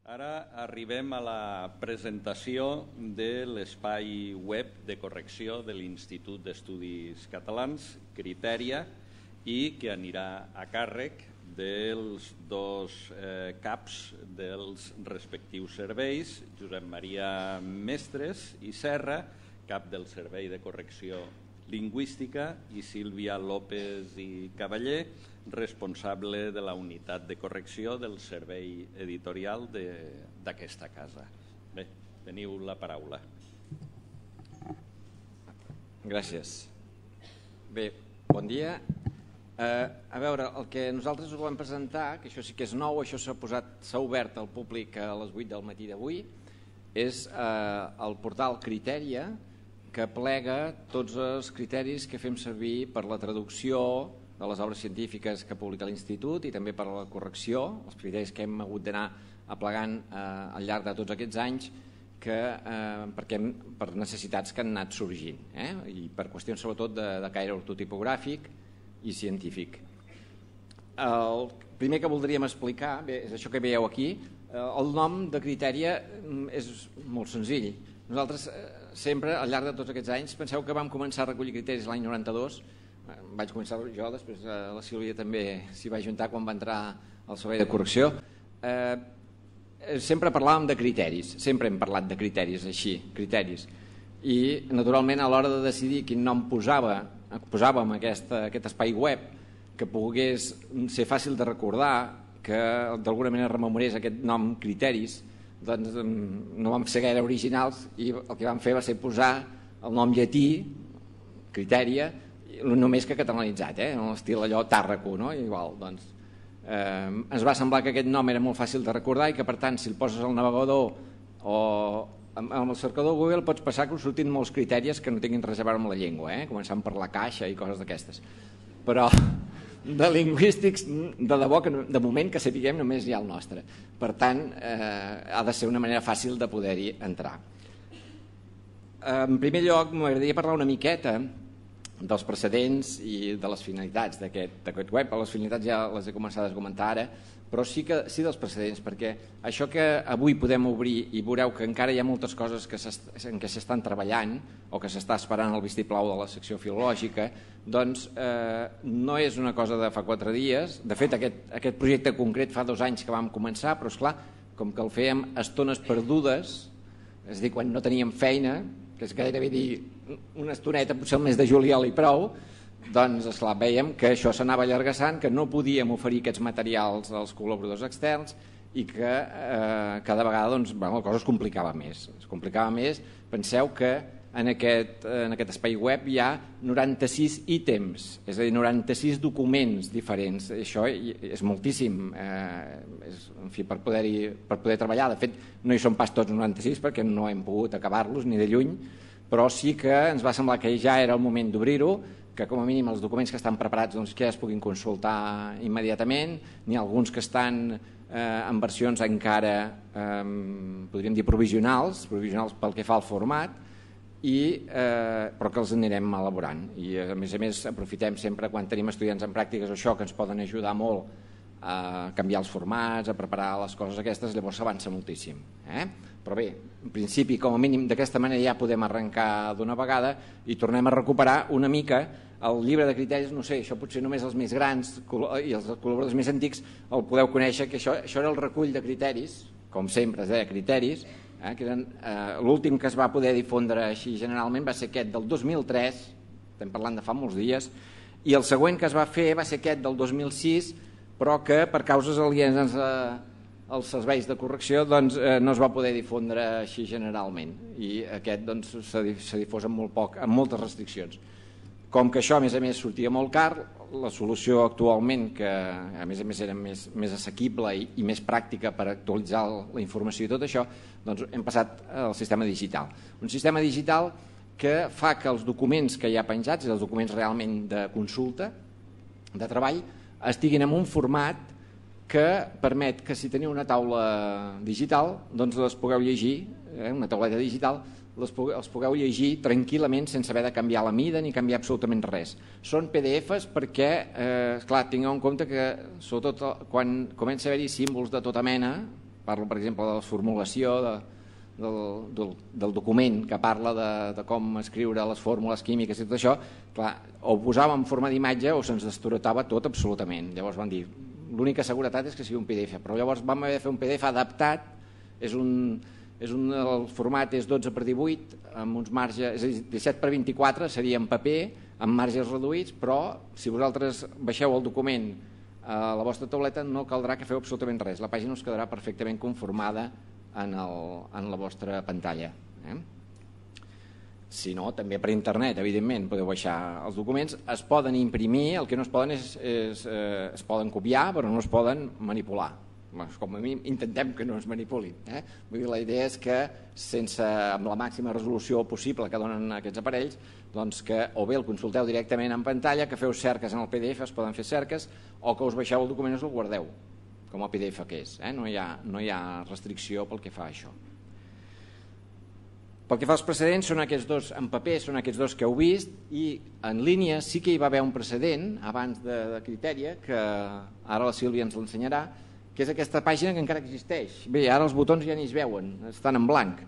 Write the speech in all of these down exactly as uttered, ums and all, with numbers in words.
Ara arribem a la presentació de l'espai web de correcció de l'Institut d'Estudis Catalans, Criteria, i que anirà a càrrec dels dos eh, caps dels respectius serveis, Josep Maria Mestres i Serra, cap del Servei de Correcció Lingüística, i Sílvia López i Cavaller, responsable de la unitat de correcció del servei editorial d'aquesta casa. Bé, teniu la paraula. Gràcies. Bé, bon dia. Eh, a veure, el que nosaltres us volem presentar, que això sí que és nou, això s'ha posat, s'ha obert al públic a les vuit del matí d'avui, és eh, el portal Criteria, que plega tots els criteris que fem servir per la traducció de les obres científiques que publica l'Institut i també per a la correcció, els criteris que hem hagut d'anar aplegant eh, al llarg de tots aquests anys que, eh, perquè, per necessitats que han anat sorgint, eh? I per qüestions sobretot de, de caire ortotipogràfic i científic. El primer que voldríem explicar, bé, és això que veieu aquí, eh, el nom de Criteria és molt senzill. Nosaltres eh, sempre, al llarg de tots aquests anys, penseu que vam començar a recollir criteris l'any noranta-dos, vaig començar jo, després la Sílvia també s'hi va ajuntar quan va entrar al servei de correcció. Eh, sempre parlàvem de criteris, sempre hem parlat de criteris així, criteris. I naturalment a l'hora de decidir quin nom posava, posàvem aquest, aquest espai web que pogués ser fàcil de recordar, que d'alguna manera rememorés aquest nom criteris, doncs no vam ser gaire originals i el que vam fer va ser posar el nom llatí, Criteria, només que catalanitzat, eh? En l'estil allò Tàrraco, no? Igual, doncs, eh, ens va semblar que aquest nom era molt fàcil de recordar i que per tant si el poses al navegador o amb el cercador Google pots passar que us surtin molts criteris que no tinguin res a veure amb la llengua, eh? Començant per la caixa i coses d'aquestes, però de lingüístics de debò que de moment que sapiguem només hi ha el nostre, per tant eh, ha de ser una manera fàcil de poder-hi entrar. En primer lloc m'agradaria parlar una miqueta dels precedents i de les finalitats d'aquest web. Les finalitats ja les he començat a comentar ara, però sí, que, sí dels precedents, perquè això que avui podem obrir i veureu que encara hi ha moltes coses que en què s'estan treballant o que s'està esperant el vistiplau de la secció filològica, doncs eh, no és una cosa de fa quatre dies. De fet, aquest, aquest projecte concret fa dos anys que vam començar, però esclar, com que el fèiem a estones perdudes, és a dir, quan no teníem feina, que és gairebé dir una estoneta, potser el mes de juliol i prou, doncs esclar, vèiem que això s'anava allargassant, que no podíem oferir aquests materials als col·laboradors externs i que eh, cada vegada doncs, bueno, la cosa es complicava més. Es complicava més. Penseu que en aquest, en aquest espai web hi ha noranta-sis ítems, és a dir, noranta-sis documents diferents. Això és moltíssim, eh, és, en fi, per poder, per poder treballar. De fet, no hi són pas tots noranta-sis perquè no hem pogut acabar-los ni de lluny, però sí que ens va semblar que ja era el moment d'obrir-ho, que com a mínim els documents que estan preparats doncs, que ja es puguin consultar immediatament, n'hi ha alguns que estan eh, en versions encara, eh, podríem dir, provisionals, provisionals pel que fa al format, i, eh, però que els anirem elaborant. I a més a més aprofitem sempre quan tenim estudiants en pràctiques això que ens poden ajudar molt a canviar els formats, a preparar les coses aquestes, llavors s'avança moltíssim. Eh? Però bé, en principi, com a mínim, d'aquesta manera ja podem arrencar d'una vegada i tornem a recuperar una mica el llibre de criteris. No sé, això potser només els més grans i els col·laboradors més antics el podeu conèixer, que això, això era el recull de criteris, com sempre es deia criteris, eh, que eren, eh, l'últim que es va poder difondre així generalment va ser aquest del dos mil tres, estem parlant de fa molts dies, i el següent que es va fer va ser aquest del dos mil sis, però que per causes alienes als serveis de correcció doncs, eh, no es va poder difondre així generalment, i aquest doncs, s'ha difós amb, molt poc, amb moltes restriccions. Com que això a més a més sortia molt car, la solució actualment, que a més a més era més, més assequible i, i més pràctica per actualitzar la informació i tot això, doncs hem passat al sistema digital. Un sistema digital que fa que els documents que hi ha penjats, els documents realment de consulta, de treball, estiguin en un format que permet que si teniu una taula digital doncs les pugueu llegir, eh, una tauleta digital, les pugueu, els pugueu llegir tranquil·lament sense haver de canviar la mida ni canviar absolutament res. Són P D Fs perquè, eh, clar, tingueu en compte que sobretot quan comença a haver-hi símbols de tota mena, parlo, per exemple, de la formulació de, del, del, del document que parla de, de com escriure les fórmules químiques i tot això, clar, o ho posàvem en forma d'imatge o se'ns destorotava tot absolutament. Llavors van dir, l'única seguretat és que sigui un P D F, però llavors vam haver de fer un P D F adaptat, és un, és un, el format és dotze per divuit, amb uns marges, és a dir, disset per vint-i-quatre seria en paper, amb marges reduïts, però si vosaltres baixeu el document a la vostra tauleta no caldrà que feu absolutament res, la pàgina us quedarà perfectament conformada en, el, en la vostra pantalla. Eh? Si no, també per internet, evidentment, podeu baixar els documents, es poden imprimir, el que no es poden és, és eh, es poden copiar, però no es poden manipular. Com a mínim intentem que no es manipulin. Eh? Vull dir, la idea és que sense, amb la màxima resolució possible que donen aquests aparells, doncs que o bé el consulteu directament en pantalla, que feu cerques en el P D F, es poden fer cerques, o que us baixeu el document i us el guardeu, com a P D F que és. Eh? No hi ha, no hi ha restricció pel que fa a això. Pel que fa als precedents, són aquests dos, en paper són aquests dos que heu vist, i en línia sí que hi va haver un precedent abans de, de Criteria, que ara la Sílvia ens l'ensenyarà, que és aquesta pàgina que encara existeix. Bé, ara els botons ja ni es veuen, estan en blanc.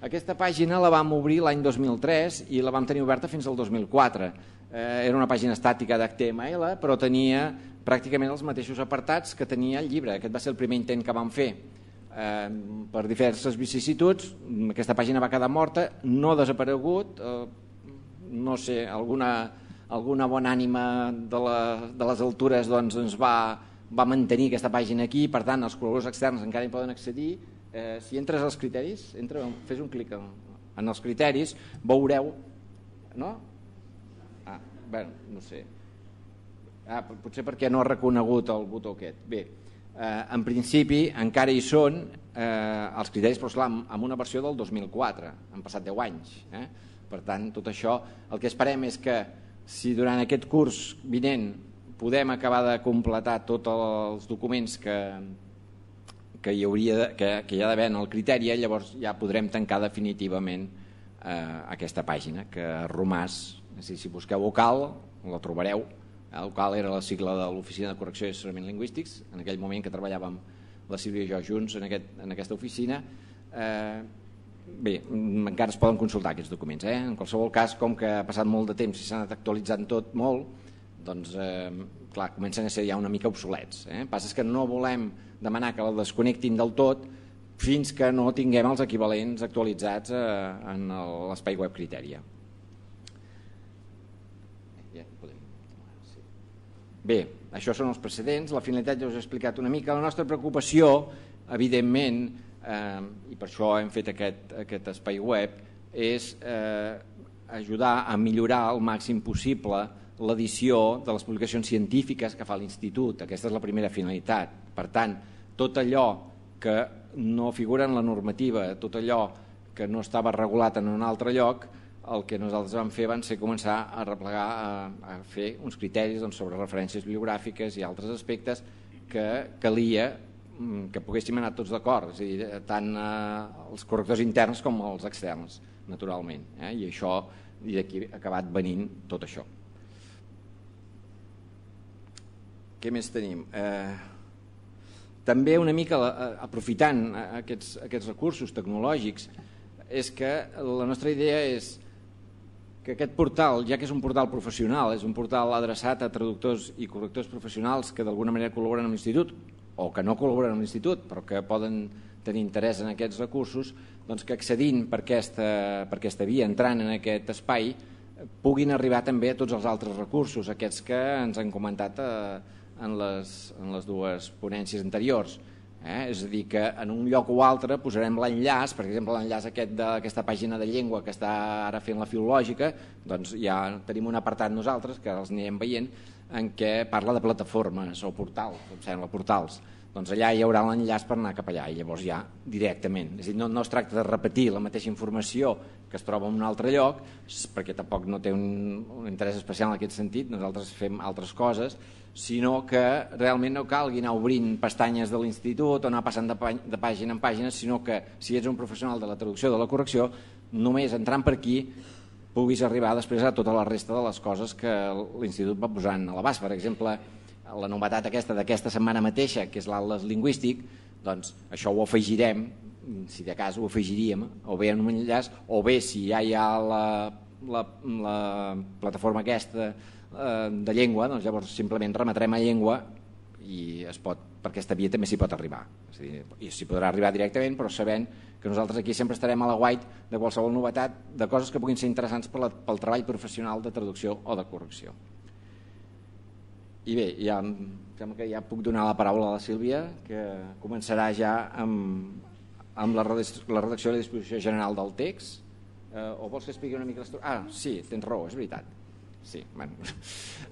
Aquesta pàgina la vam obrir l'any dos mil tres i la vam tenir oberta fins al dos mil quatre. Eh, era una pàgina estàtica d'H T M L, però tenia pràcticament els mateixos apartats que tenia el llibre. Aquest va ser el primer intent que vam fer. Eh, per diverses vicissituds, aquesta pàgina va quedar morta, no ha desaparegut, eh, no sé, alguna, alguna bona ànima de, la, de les altures doncs, ens va, va mantenir aquesta pàgina aquí, per tant els col·laboradors externs encara hi poden accedir. Eh, si entres als criteris, entra, fes un clic en, en els criteris, veureu, no? Ah, bueno, no sé. Ah, potser perquè no ha reconegut el botó aquest. Bé, Eh, en principi encara hi són eh, els criteris, però esclar, amb una versió del dos mil quatre, han passat deu anys. Eh? Per tant, tot això, el que esperem és que si durant aquest curs vinent podem acabar de completar tots els documents que, que hi hauria de, que, que hi ha d'haver en el criteri, llavors ja podrem tancar definitivament eh, aquesta pàgina, que Romàs, si, si busqueu vocal, la trobareu. El qual era la sigla de l'Oficina de Correcció i Assessorament Lingüístics, en aquell moment que treballàvem la Sílvia i jo junts en, aquest, en aquesta oficina. Eh, bé, encara es poden consultar aquests documents. Eh? En qualsevol cas, com que ha passat molt de temps i s'ha anat actualitzant tot molt, doncs, eh, clar, comencen a ser ja una mica obsolets. Eh? El passa és que no volem demanar que el desconnectin del tot fins que no tinguem els equivalents actualitzats eh, en l'espai web Criteria. Bé, això són els precedents, la finalitat ja us he explicat una mica. La nostra preocupació, evidentment, eh, i per això hem fet aquest, aquest espai web, és eh, ajudar a millorar al màxim possible l'edició de les publicacions científiques que fa l'Institut. Aquesta és la primera finalitat. Per tant, tot allò que no figura en la normativa, tot allò que no estava regulat en un altre lloc, el que nosaltres vam fer van ser començar a replegar, a, a fer uns criteris doncs, sobre referències bibliogràfiques i altres aspectes que calia que poguéssim anar tots d'acord, és a dir, tant eh, els correctors interns com els externs, naturalment. Eh? I això, i d'aquí ha acabat venint tot això. Què més tenim? Eh, també una mica, eh, aprofitant aquests, aquests recursos tecnològics, és que la nostra idea és que aquest portal, ja que és un portal professional, és un portal adreçat a traductors i correctors professionals que d'alguna manera col·laboren amb l'Institut o que no col·laboren amb l'Institut però que poden tenir interès en aquests recursos, doncs que accedint per aquesta, per aquesta via, entrant en aquest espai, puguin arribar també a tots els altres recursos, aquests que ens han comentat eh, en, les, en les dues ponències anteriors. Eh? És a dir, que en un lloc o altre posarem l'enllaç, per exemple l'enllaç aquest d'aquesta pàgina de llengua que està ara fent la filològica, doncs ja tenim un apartat nosaltres, que els anirem veient, en què parla de plataformes o portals, em sembla, portals. Doncs allà hi haurà l'enllaç per anar cap allà i llavors ja directament. És a dir, no, no es tracta de repetir la mateixa informació que es troba en un altre lloc, perquè tampoc no té un, un interès especial en aquest sentit, nosaltres fem altres coses, sinó que realment no calgui anar obrint pestanyes de l'Institut o anar passant de, de pàgina en pàgina, sinó que si ets un professional de la traducció o de la correcció, només entrant per aquí puguis arribar després a tota la resta de les coses que l'Institut va posant a l'abast. Per exemple, la novetat aquesta d'aquesta setmana mateixa, que és l'Atles Lingüístic, doncs això ho afegirem, si de cas ho afegiríem, o bé en un enllaç, o bé si ja hi ha la, la, la plataforma aquesta eh, de llengua, doncs llavors simplement remetrem a llengua i es pot, per aquesta via també s'hi pot arribar. És a dir, i s'hi podrà arribar directament, però sabent que nosaltres aquí sempre estarem a la guait de qualsevol novetat, de coses que puguin ser interessants per la, pel treball professional de traducció o de correcció. I bé, ja, em sembla que ja puc donar la paraula a la Sílvia, que començarà ja amb, amb la redacció i la disposició general del text. Eh, o vols que expliqui una mica l'estructura? Ah, sí, tens raó, és veritat. Sí, bueno.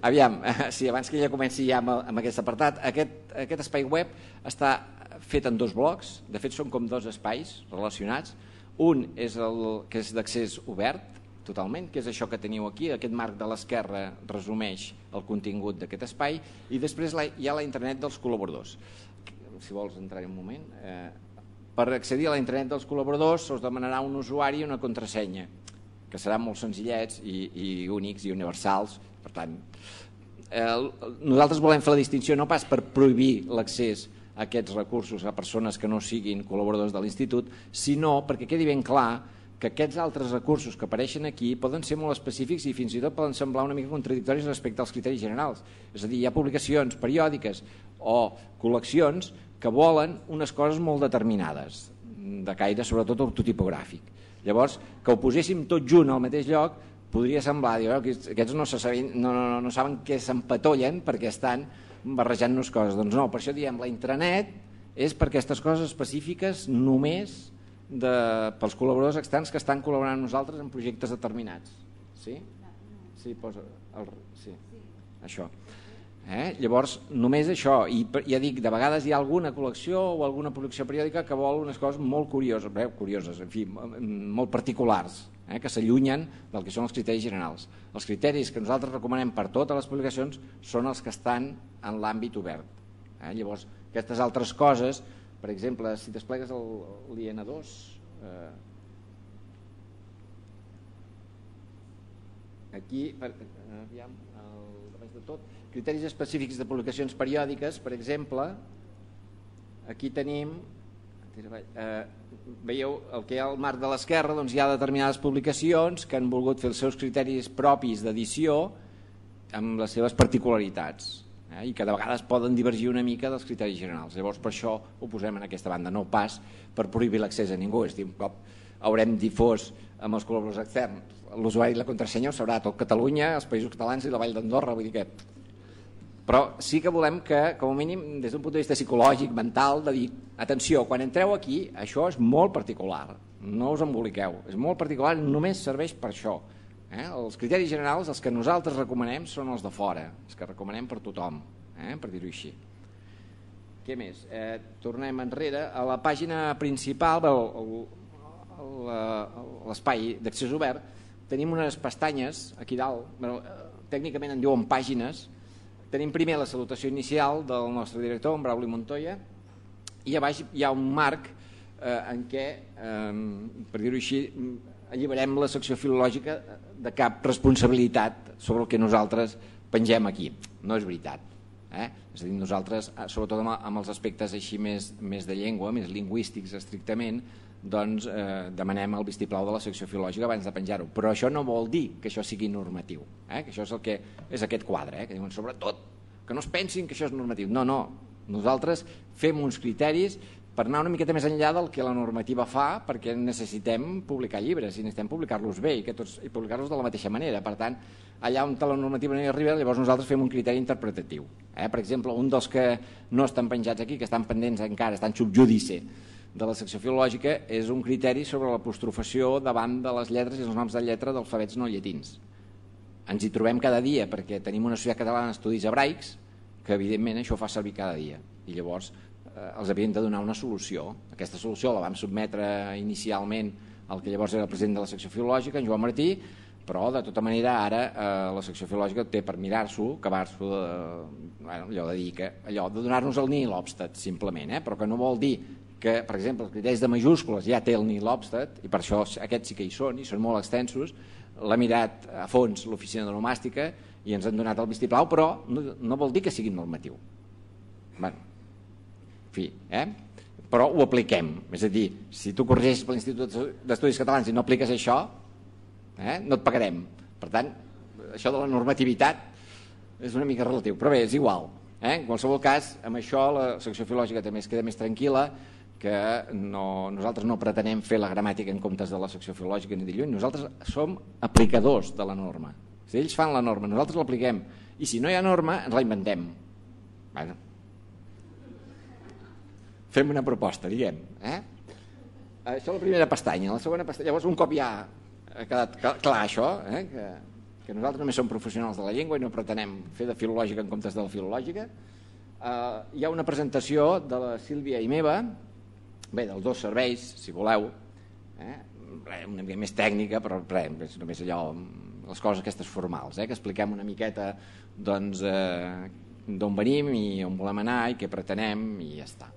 Aviam, sí, abans que ja comenci ja amb, amb aquest apartat, aquest, aquest espai web està fet en dos blocs, de fet són com dos espais relacionats. Un és el que és d'accés obert, totalment, que és això que teniu aquí, aquest marc de l'esquerra resumeix el contingut d'aquest espai, i després hi ha la intranet dels col·laboradors. Si vols entrar-hi un moment. Eh, per accedir a la intranet dels col·laboradors us demanarà un usuari i una contrasenya, que seran molt senzillets i, i únics i universals. Per tant, eh, nosaltres volem fer la distinció no pas per prohibir l'accés a aquests recursos a persones que no siguin col·laboradors de l'Institut, sinó perquè quedi ben clar que aquests altres recursos que apareixen aquí poden ser molt específics i fins i tot poden semblar una mica contradictoris respecte als criteris generals. És a dir, hi ha publicacions periòdiques o col·leccions que volen unes coses molt determinades, de caire sobretot ortotipogràfic. Llavors, que ho poséssim tot junt al mateix lloc podria semblar, dir, que aquests no, sabien, no, no, no saben què s'empatollen perquè estan barrejant-nos coses. Doncs no, per això diem la intranet és per aquestes coses específiques només de, pels col·laboradors externs que estan col·laborant amb nosaltres en projectes determinats. Sí? Sí, posa el, sí. Això. Eh? Llavors, només això, i ja dic, de vegades hi ha alguna col·lecció o alguna producció periòdica que vol unes coses molt curioses, bé, curioses, en fi, molt particulars, eh? que s'allunyen del que són els criteris generals. Els criteris que nosaltres recomanem per totes les publicacions són els que estan en l'àmbit obert. Eh? Llavors, aquestes altres coses, per exemple, si desplegues l'I N dos, eh, aquí, per, aviam, el, abans de tot, criteris específics de publicacions periòdiques, per exemple, aquí tenim, eh, veieu el que hi ha al marc de l'esquerra, doncs hi ha determinades publicacions que han volgut fer els seus criteris propis d'edició amb les seves particularitats, eh, i que de vegades poden divergir una mica dels criteris generals. Llavors per això ho posem en aquesta banda, no pas per prohibir l'accés a ningú. És a dir, un cop haurem difós amb els col·laboradors externs l'usuari i la contrasenya ho sabrà tot Catalunya, els Països Catalans i la Vall d'Andorra, vull dir que... Però sí que volem que, com a mínim, des d'un punt de vista psicològic, mental, de dir, atenció, quan entreu aquí, això és molt particular, no us emboliqueu, és molt particular, només serveix per això. Eh? Els criteris generals, els que nosaltres recomanem, són els de fora, els que recomanem per tothom, eh? per dir-ho així. Què més? Eh, tornem enrere. A la pàgina principal, l'espai d'accés obert, tenim unes pestanyes aquí dalt, bueno, tècnicament en diuen pàgines. Tenim primer la salutació inicial del nostre director, en Brauli Montoya, i a baix hi ha un marc eh, en què, eh, per dir-ho així, alliberem la secció filològica de cap responsabilitat sobre el que nosaltres pengem aquí. No és veritat. Eh? És a dir, nosaltres, sobretot amb els aspectes així més, més de llengua, més lingüístics estrictament, doncs eh, demanem el vistiplau de la secció filològica abans de penjar-ho, però això no vol dir que això sigui normatiu, eh? que això és el que és aquest quadre, eh? que diuen sobretot que no es pensin que això és normatiu. No, no, nosaltres fem uns criteris per anar una miqueta més enllà del que la normativa fa, perquè necessitem publicar llibres i necessitem publicar-los bé i, que tots, i publicar-los de la mateixa manera. Per tant, allà on la normativa no hi arriba, llavors nosaltres fem un criteri interpretatiu. Eh? Per exemple, un dels que no estan penjats aquí, que estan pendents encara, estan sub judice de la secció filològica, és un criteri sobre l'apostrofació davant de les lletres i els noms de lletra d'alfabets no llatins. Ens hi trobem cada dia perquè tenim una societat catalana d'estudis hebraics que evidentment això fa servir cada dia i llavors eh, els havíem de donar una solució. Aquesta solució la vam sotmetre inicialment al que llavors era el president de la secció filològica, en Joan Martí, però de tota manera ara eh, la secció filològica té per mirar-s'ho, acabar-s'ho de, bueno, allò de dir que allò de donar-nos el nihil obstat simplement, eh? Però que no vol dir que, per exemple, els criteris de majúscules ja té el nihil obstat i per això aquests sí que hi són i són molt extensos. L'ha mirat a fons l'oficina d'onomàstica i ens han donat el vistiplau, però no, no vol dir que sigui normatiu. Bueno, en fi, eh? però ho apliquem. És a dir, si tu corregeixes per l'Institut d'Estudis Catalans i no apliques això, eh, no et pagarem. Per tant, això de la normativitat és una mica relatiu, però bé, és igual. Eh? En qualsevol cas, amb això la secció filològica també es queda més tranquil·la, que no, nosaltres no pretenem fer la gramàtica en comptes de la secció filològica ni de lluny, nosaltres som aplicadors de la norma. Si ells fan la norma, nosaltres l'apliquem, i si no hi ha norma, ens la inventem. Bueno, fem una proposta, diguem. Eh? Això és la primera pestanya. La segona pestanya, llavors un cop ja ha quedat clar això, eh? que, que nosaltres només som professionals de la llengua i no pretenem fer de filològica en comptes de la filològica, eh, hi ha una presentació de la Sílvia i meva, bé, dels dos serveis, si voleu, eh? una mica més tècnica, però res, és només allò, les coses aquestes formals, eh? que expliquem una miqueta doncs, eh, d'on venim i on volem anar i què pretenem i ja està.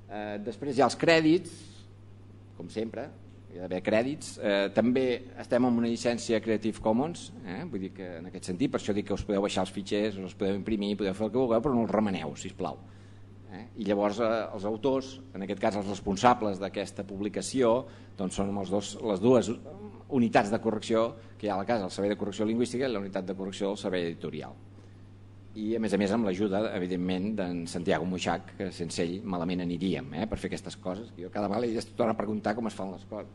Eh, després hi ha els crèdits, com sempre, hi ha d'haver crèdits. Eh, també estem amb una llicència Creative Commons, eh? vull dir que en aquest sentit, per això dic que us podeu baixar els fitxers, us els podeu imprimir, podeu fer el que vulgueu, però no els remeneu, sisplau. Eh? I llavors eh, els autors, en aquest cas els responsables d'aquesta publicació, doncs són els dos, les dues unitats de correcció que hi ha a la casa, el servei de correcció lingüística i la unitat de correcció del servei editorial. I a més a més amb l'ajuda, evidentment, d'en Santiago Moixac, que sense ell malament aniríem eh, per fer aquestes coses. Jo cada vegada li torno a preguntar com es fan les coses.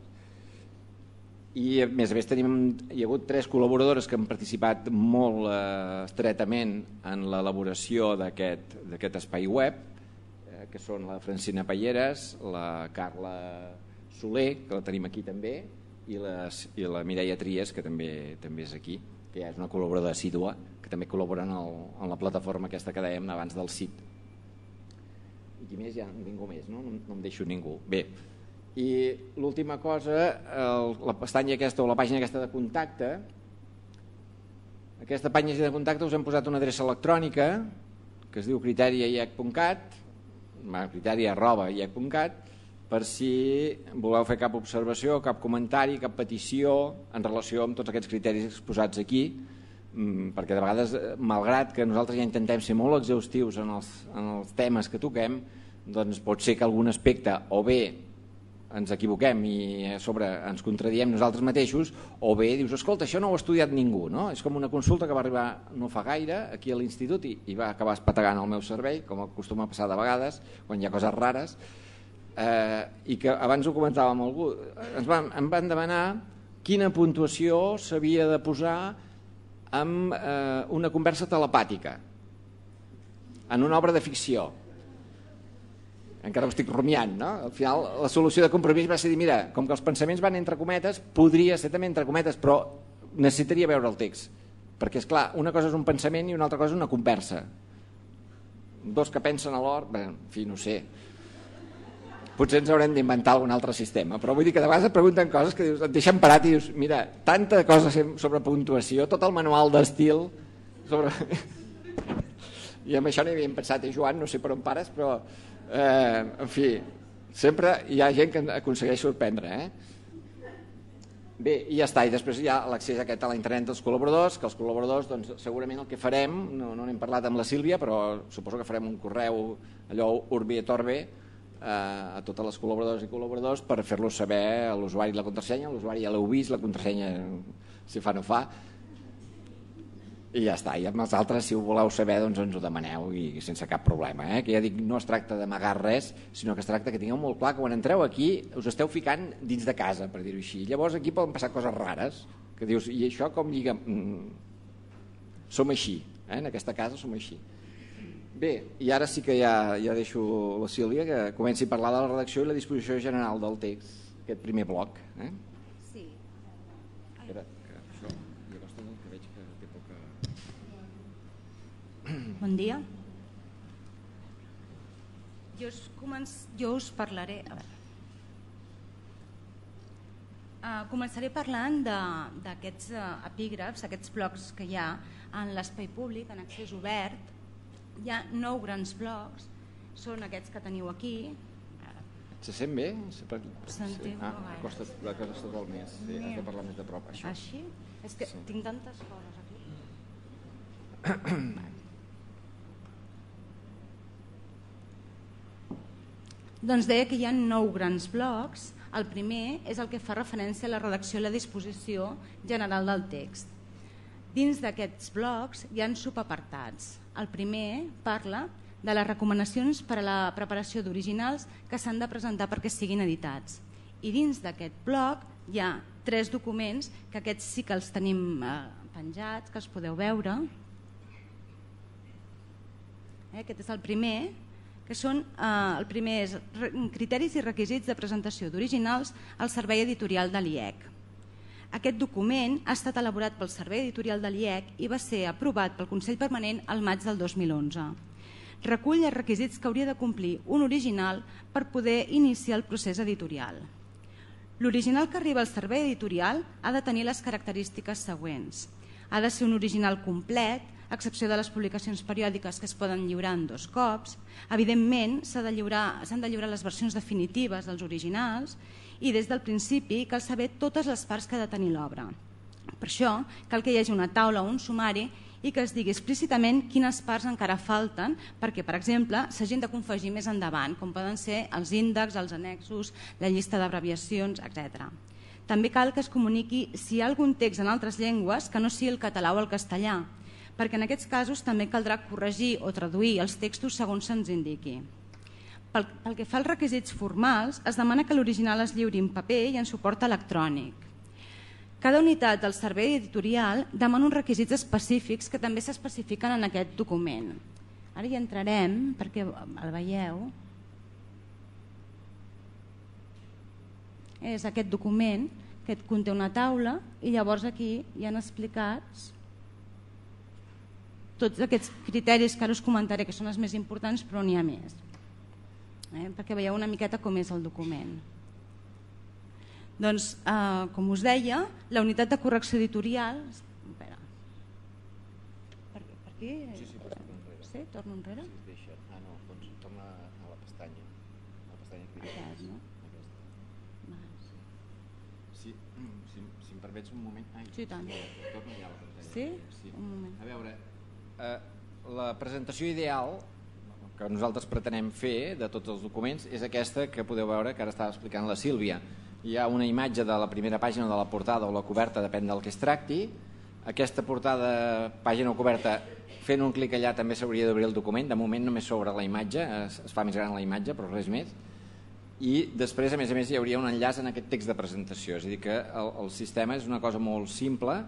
I a més a més tenim, hi ha hagut tres col·laboradores que han participat molt eh, estretament en l'elaboració d'aquest espai web, eh, que són la Francina Palleres, la Carla Soler, que la tenim aquí també, i la, i la Mireia Tries, que també també és aquí, que ja és una col·laboradora assídua, que també col·labora en, el, en la plataforma aquesta que dèiem abans del C I T. I qui més? Ja ningú més, no? No, no em deixo ningú. Bé, i l'última cosa, el, la pestanya aquesta o la pàgina aquesta de contacte, aquesta pàgina de contacte us hem posat una adreça electrònica que es diu criteria i e c punt cat, criteria arroba i e c punt cat, per si voleu fer cap observació, cap comentari, cap petició en relació amb tots aquests criteris exposats aquí, perquè de vegades, malgrat que nosaltres ja intentem ser molt exhaustius en els, en els temes que toquem, doncs pot ser que algun aspecte o bé ens equivoquem i a sobre ens contradiem nosaltres mateixos, o bé dius, escolta, això no ho ha estudiat ningú, no? És com una consulta que va arribar no fa gaire aquí a l'institut i, i va acabar espategant el meu servei, com acostuma a passar de vegades, quan hi ha coses rares, eh, i que abans ho comentava amb algú, ens van, em van demanar quina puntuació s'havia de posar amb eh, una conversa telepàtica en una obra de ficció. Encara ho estic rumiant, no? Al final la solució de compromís va ser dir, mira, com que els pensaments van entre cometes, podria ser també entre cometes, però necessitaria veure el text, perquè és clar, una cosa és un pensament i una altra cosa és una conversa. Dos que pensen a l'hora, bé, en fi, no sé, potser ens haurem d'inventar algun altre sistema, però vull dir que de vegades et pregunten coses que dius, et deixen parat i dius, mira, tanta cosa sobre puntuació, tot el manual d'estil sobre... I amb això no hi havíem pensat, eh, Joan, no sé per on pares, però eh, en fi, sempre hi ha gent que aconsegueix sorprendre, eh? Bé, i ja està, i després hi ha l'accés aquest a la internet dels col·laboradors, que els col·laboradors, doncs, segurament el que farem, no, no n'hem parlat amb la Sílvia, però suposo que farem un correu, allò urbi et orbi, a totes les col·laboradores i col·laboradors per fer-los saber a l'usuari la contrasenya, l'usuari ja l'heu vist, la contrasenya si fa no fa, i ja està. I amb els altres, si ho voleu saber, doncs ens ho demaneu i sense cap problema, eh? Que ja dic, no es tracta d'amagar res, sinó que es tracta que tingueu molt clar que quan entreu aquí us esteu ficant dins de casa, per dir-ho així. Llavors aquí poden passar coses rares, que dius, i això com lliga? Mm, som així, eh? En aquesta casa som així. Bé, i ara sí que ja, ja deixo la Sílvia que comenci a parlar de la redacció i la disposició general del text, aquest primer bloc. Eh? Sí. Espera, que això, jo costa que veig que té poca... Bon dia. Jo us, començ... jo us parlaré... A veure. Uh, començaré parlant d'aquests uh, epígrafs, aquests blocs que hi ha en l'espai públic, en accés obert. Hi ha nou grans blocs, són aquests que teniu aquí. Se sent bé? Sentiu ah, gaire. Costa, la cosa està molt més, sí, has de parlar més de prop. Això. Així? És que sí. Tinc tantes coses aquí. Doncs deia que hi ha nou grans blocs. El primer és el que fa referència a la redacció i la disposició general del text. Dins d'aquests blocs hi ha subapartats. El primer parla de les recomanacions per a la preparació d'originals que s'han de presentar perquè siguin editats. I dins d'aquest bloc hi ha tres documents que aquests sí que els tenim penjats, que els podeu veure. Aquest és el primer, que són, el primer és criteris i requisits de presentació d'originals al servei editorial de l'I E C. Aquest document ha estat elaborat pel servei editorial de l'I E C i va ser aprovat pel Consell Permanent al maig del dos mil onze. Recull els requisits que hauria de complir un original per poder iniciar el procés editorial. L'original que arriba al servei editorial ha de tenir les característiques següents. Ha de ser un original complet, a excepció de les publicacions periòdiques que es poden lliurar en dos cops. Evidentment, s'han de lliurar, s'han de lliurar les versions definitives dels originals i des del principi cal saber totes les parts que ha de tenir l'obra. Per això cal que hi hagi una taula o un sumari i que es digui explícitament quines parts encara falten perquè, per exemple, s'hagin de confegir més endavant, com poden ser els índexs, els annexos, la llista d'abreviacions, etcètera. També cal que es comuniqui si hi ha algun text en altres llengües que no sigui el català o el castellà, perquè en aquests casos també caldrà corregir o traduir els textos segons se'ns indiqui. Pel, pel que fa als requisits formals, es demana que l'original es lliuri en paper i en suport electrònic. Cada unitat del servei editorial demana uns requisits específics que també s'especifiquen en aquest document. Ara hi entrarem perquè el veieu. És aquest document que conté una taula i llavors aquí hi han explicats tots aquests criteris que ara us comentaré, que són els més importants, però n'hi ha més. Eh? Perquè veieu una miqueta com és el document. Doncs, eh, com us deia, la unitat de correcció editorial... Espera. Per, per aquí? Sí, sí, pots tornar enrere. Sí, torno enrere? Sí, es deixa. Ah, no, doncs torna a la pestanya. A la pestanya que Aquest, no? Aquesta. Sí, si, si em permets un moment... Ai, sí, tant. Torna ja a la pestanya. Sí? Sí? Un moment. A veure, eh, la presentació ideal que nosaltres pretenem fer de tots els documents és aquesta que podeu veure que ara estava explicant la Sílvia. Hi ha una imatge de la primera pàgina de la portada o la coberta, depèn del que es tracti. Aquesta portada, pàgina o coberta, fent un clic allà també s'hauria d'obrir el document. De moment només s'obre la imatge, es, es fa més gran la imatge, però res més. I després, a més a més, hi hauria un enllaç en aquest text de presentació. És a dir, que el, el sistema és una cosa molt simple,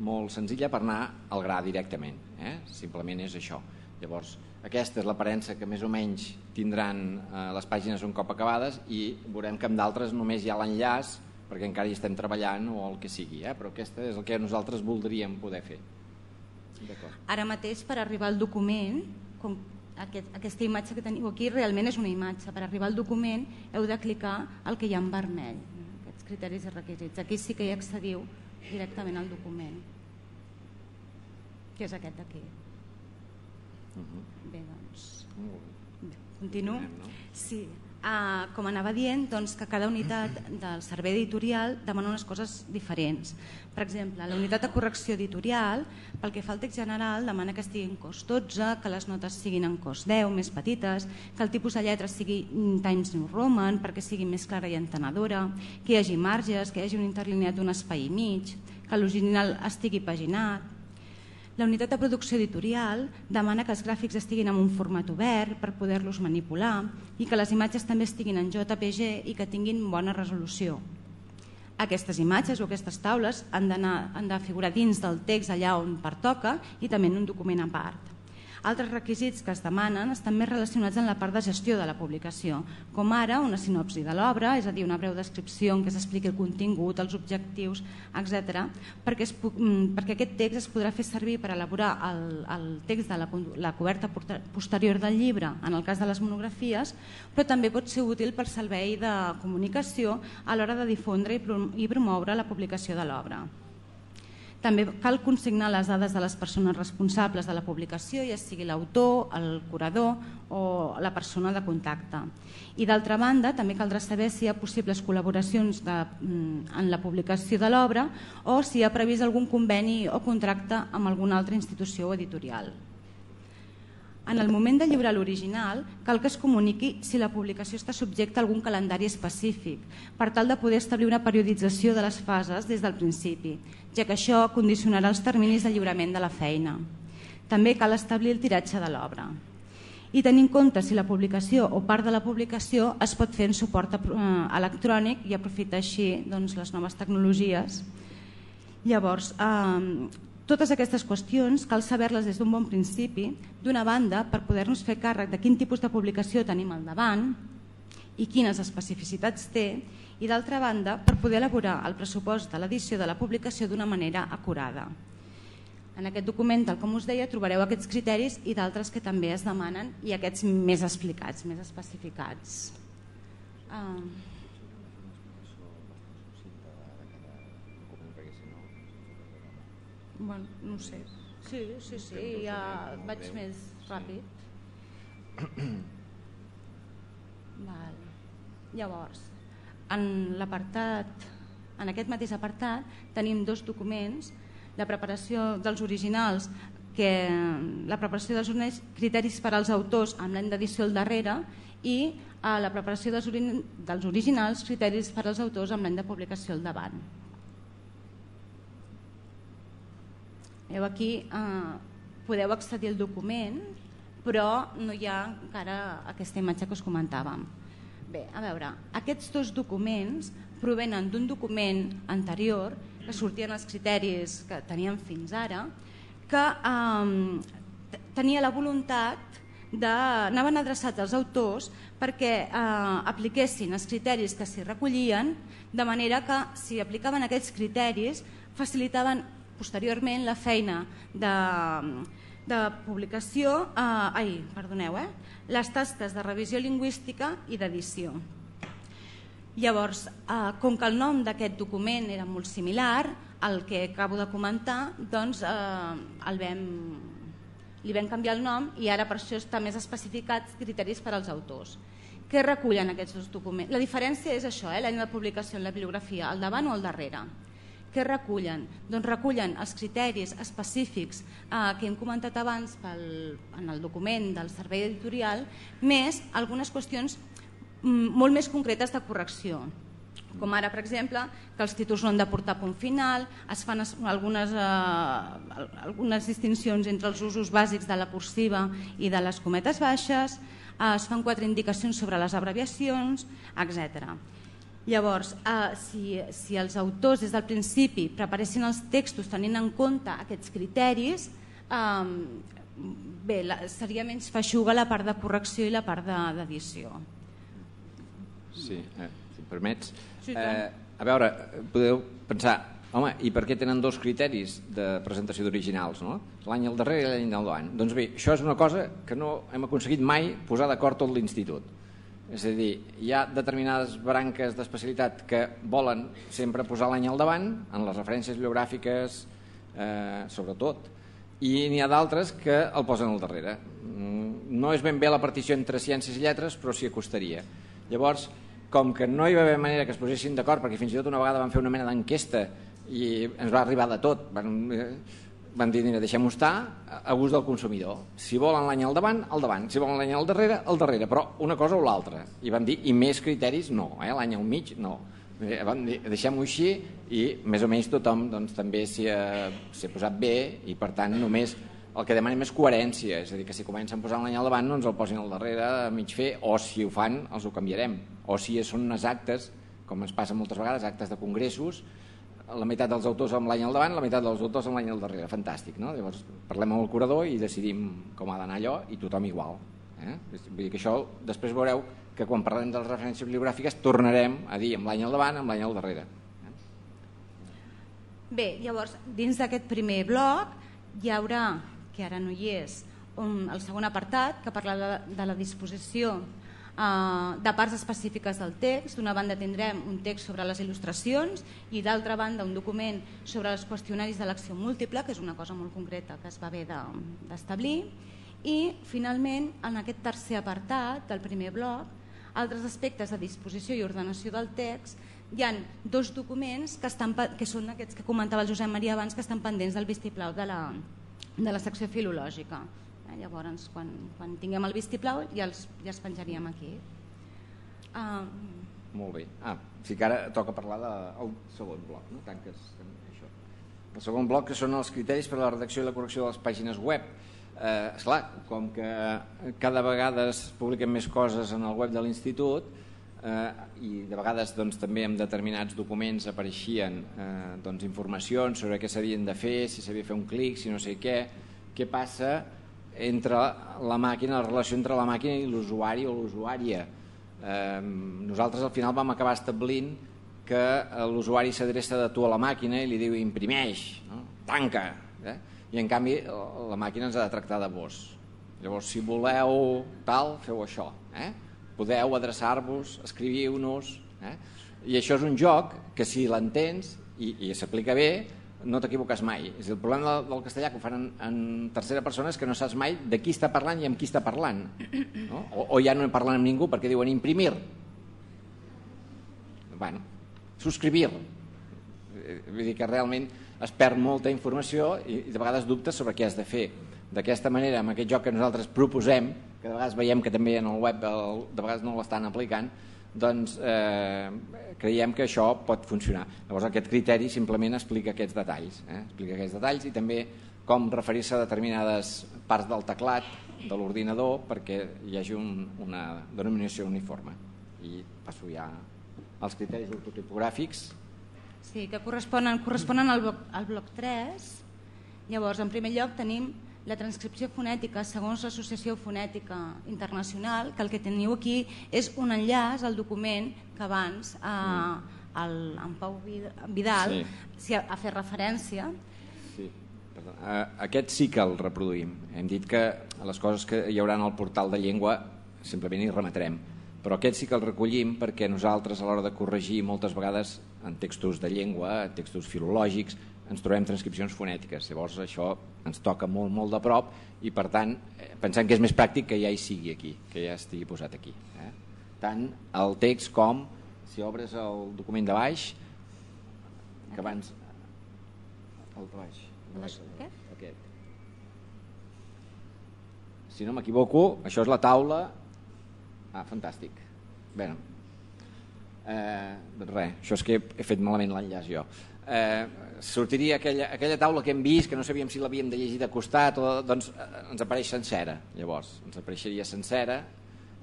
molt senzilla per anar al gra directament. Eh? Simplement és això. Llavors, aquesta és l'aparença que més o menys tindran eh, les pàgines un cop acabades i veurem que amb d'altres només hi ha l'enllaç perquè encara hi estem treballant o el que sigui, eh? Però aquesta és el que nosaltres voldríem poder fer. Ara mateix, per arribar al document, com aquest, aquesta imatge que teniu aquí realment és una imatge. Per arribar al document heu de clicar el que hi ha en vermell, aquests criteris i requisits. Aquí sí que hi accediu directament al document, que és aquest d'aquí. Bé, doncs... Continuo? Sí. Uh, com anava dient, doncs, que cada unitat del servei editorial demana unes coses diferents. Per exemple, la unitat de correcció editorial, pel que fa al text general, demana que estigui en cos dotze, que les notes siguin en cos deu, més petites, que el tipus de lletra sigui Times New Roman perquè sigui més clara i entenedora, que hi hagi marges, que hi hagi un interlineat d'un espai i mig, que l'original estigui paginat. La unitat de producció editorial demana que els gràfics estiguin en un format obert per poder-los manipular i que les imatges també estiguin en J P G i que tinguin bona resolució. Aquestes imatges o aquestes taules han d'anar, han de figurar dins del text allà on pertoca i també en un document a part. Altres requisits que es demanen estan més relacionats amb la part de gestió de la publicació, com ara una sinopsi de l'obra, és a dir, una breu descripció en què s'expliqui el contingut, els objectius, etcètera, perquè, es, perquè aquest text es podrà fer servir per elaborar el, el text de la, la coberta posterior del llibre, en el cas de les monografies, però també pot ser útil per servei de comunicació a l'hora de difondre i promoure la publicació de l'obra. També cal consignar les dades de les persones responsables de la publicació, ja sigui l'autor, el curador o la persona de contacte. I d'altra banda, també caldrà saber si hi ha possibles col·laboracions de, en la publicació de l'obra o si hi ha previst algun conveni o contracte amb alguna altra institució o editorial. En el moment de lliurar l'original, cal que es comuniqui si la publicació està subjecta a algun calendari específic, per tal de poder establir una periodització de les fases des del principi, ja que això condicionarà els terminis de lliurament de la feina. També cal establir el tiratge de l'obra. I tenir en compte si la publicació o part de la publicació es pot fer en suport electrònic i aprofitar així les noves tecnologies. Llavors, totes aquestes qüestions cal saber-les des d'un bon principi, d'una banda per poder-nos fer càrrec de quin tipus de publicació tenim al davant i quines especificitats té, i d'altra banda per poder elaborar el pressupost de l'edició de la publicació d'una manera acurada. En aquest document, tal com us deia, trobareu aquests criteris i d'altres que també es demanen i aquests més explicats, més especificats. Uh... Bueno, no sé. Sí, sí, sí, ja vaig més ràpid. Val. Llavors, en l'apartat, en aquest mateix apartat, tenim dos documents: la preparació dels originals, que la preparació dels criteris per als autors amb l'any d'edició al darrere, i la preparació dels, ori dels originals, criteris per als autors amb l'any de publicació al davant. Veieu aquí, eh, podeu accedir al document, però no hi ha encara aquesta imatge que us comentàvem. Bé, a veure, aquests dos documents provenen d'un document anterior que sortien els criteris que teníem fins ara, que eh, tenia la voluntat de... anaven adreçats als autors perquè eh, apliquessin els criteris que s'hi recollien, de manera que si aplicaven aquests criteris facilitaven posteriorment la feina de, de publicació, eh, ai, perdoneu, eh, les tasques de revisió lingüística i d'edició. Llavors, eh, com que el nom d'aquest document era molt similar al que acabo de comentar, doncs eh, el vam, li vam canviar el nom i ara per això està més especificats criteris per als autors. Què recullen aquests dos documents? La diferència és això, eh, l'any de publicació en la bibliografia, al davant o al darrere. Què recullen? Doncs recullen els criteris específics eh, que hem comentat abans pel, en el document del servei editorial, més algunes qüestions molt més concretes de correcció, com ara, per exemple, que els títols no han de portar punt final, es fan algunes, eh, algunes distincions entre els usos bàsics de la cursiva i de les cometes baixes, eh, es fan quatre indicacions sobre les abreviacions, etcètera. Llavors, eh, si, si els autors des del principi preparessin els textos tenint en compte aquests criteris, eh, bé, la, seria menys feixuga la part de correcció i la part d'edició. Sí, eh, si em permets. Sí, eh, a veure, podeu pensar, home, i per què tenen dos criteris de presentació d'originals, no? L'any al darrere i l'any al davant? Doncs bé, això és una cosa que no hem aconseguit mai posar d'acord tot l'institut. És a dir, hi ha determinades branques d'especialitat que volen sempre posar l'any al davant, en les referències bibliogràfiques, eh, sobretot, i n'hi ha d'altres que el posen al darrere. No és ben bé la partició entre ciències i lletres, però s'hi acostaria. Llavors, com que no hi va haver manera que es posessin d'acord, perquè fins i tot una vegada van fer una mena d'enquesta i ens va arribar de tot, van, van dir, deixem-ho estar a gust del consumidor. Si volen l'any al davant, al davant. Si volen l'any al darrere, al darrere. Però una cosa o l'altra. I van dir, i més criteris, no. Eh? L'any al mig, no. Van dir, deixem-ho així, i més o menys tothom doncs, també s'hi ha, s'hi ha posat bé, i per tant només el que demanem és coherència, és a dir, que si comencen posant l'any al davant no ens el posin al darrere a mig fer, o si ho fan els ho canviarem, o si són unes actes, com ens passa moltes vegades, actes de congressos, la meitat dels autors amb l'any al davant, la meitat dels autors amb l'any al darrere, fantàstic, no? Llavors parlem amb el curador i decidim com ha d'anar allò i tothom igual. Eh? Vull dir que això després veureu que quan parlem de les referències bibliogràfiques tornarem a dir amb l'any al davant, amb l'any al darrere. Eh? Bé, llavors, dins d'aquest primer bloc hi haurà, que ara no hi és, un, el segon apartat que parla de, de la disposició eh, de parts específiques del text. D'una banda tindrem un text sobre les il·lustracions i d'altra banda un document sobre els qüestionaris d'elecció múltiple, que és una cosa molt concreta que es va haver d'establir. I finalment, en aquest tercer apartat del primer bloc, altres aspectes de disposició i ordenació del text, hi ha dos documents que, estan, que són aquests que comentava el Josep Maria abans, que estan pendents del vistiplau de la, de la secció filològica. Llavors, quan, quan tinguem el vistiplau ja els, ja els penjaríem aquí. Uh... Molt bé. Ah, sí que ara toca parlar del segon bloc, no? Tanques això. El segon bloc, que són els criteris per a la redacció i la correcció de les pàgines web. Eh, esclar, com que cada vegada es publiquen més coses en el web de l'Institut, eh, i de vegades doncs, també en determinats documents apareixien eh, doncs, informacions sobre què s'havien de fer, si s'havia de fer un clic, si no sé què, què passa entre la màquina, la relació entre la màquina i l'usuari o l'usuària. Eh, nosaltres al final vam acabar establint que l'usuari s'adreça de tu a la màquina i li diu imprimeix, no? Tanca, eh? I en canvi la màquina ens ha de tractar de vos. Llavors, si voleu tal, feu això, eh? Podeu adreçar-vos, escriviu-nos, eh? I això és un joc que si l'entens i, i s'aplica bé, no t'equivoques mai. És el problema del, del castellà que ho fan en, en tercera persona és que no saps mai de qui està parlant i amb qui està parlant, no? o, o ja no parlen amb ningú perquè diuen imprimir, bueno, subscribir. Vull dir que realment es perd molta informació i, i de vegades dubtes sobre què has de fer. D'aquesta manera, amb aquest joc que nosaltres proposem, que de vegades veiem que també en el web el, de vegades no l'estan aplicant, doncs eh, creiem que això pot funcionar. Llavors aquest criteri simplement explica aquests detalls, eh? explica aquests detalls i també com referir-se a determinades parts del teclat de l'ordinador perquè hi hagi un, una denominació uniforme. I passo ja als criteris ortotipogràfics. Sí, que corresponen, corresponen al bloc, al bloc tres. Llavors, en primer lloc tenim la transcripció fonètica segons l'Associació Fonètica Internacional, que el que teniu aquí és un enllaç al document que abans eh, el, en Pau Vidal sí. si ha, ha fet referència. Sí. Perdó. Aquest sí que el reproduïm. Hem dit que les coses que hi haurà al portal de llengua simplement hi remetrem, però aquest sí que el recollim perquè nosaltres a l'hora de corregir moltes vegades en textos de llengua, textos filològics, ens trobem transcripcions fonètiques. Llavors això ens toca molt, molt de prop i per tant pensem que és més pràctic que ja hi sigui aquí, que ja estigui posat aquí. Eh? Tant el text com, si obres el document de baix, que abans... El de baix. El de baix aquest? Aquest. Si no m'equivoco, això és la taula... Ah, fantàstic. Bé, eh, res, això és que he fet malament l'enllaç jo. Eh, sortiria aquella, aquella taula que hem vist, que no sabíem si l'havíem de llegir de costat, o, doncs eh, ens apareix sencera, llavors, ens apareixeria sencera,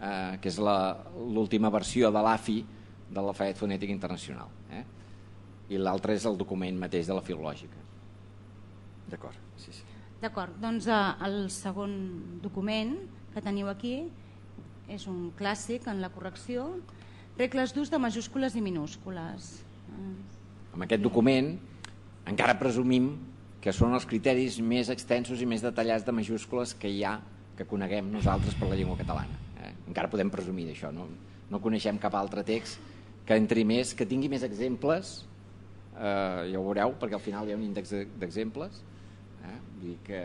eh, que és l'última versió de l'A F I de l'Alfabet Fonètic Internacional, eh? I l'altre és el document mateix de la filològica. D'acord, sí, sí. D'acord, doncs eh, el segon document que teniu aquí és un clàssic en la correcció, regles d'ús de majúscules i minúscules. Amb aquest document encara presumim que són els criteris més extensos i més detallats de majúscules que hi ha, que coneguem nosaltres per la llengua catalana. Eh? Encara podem presumir d'això, no? No coneixem cap altre text que entri més, que tingui més exemples, eh, ja ho veureu, perquè al final hi ha un índex d'exemples, eh? Vull dir que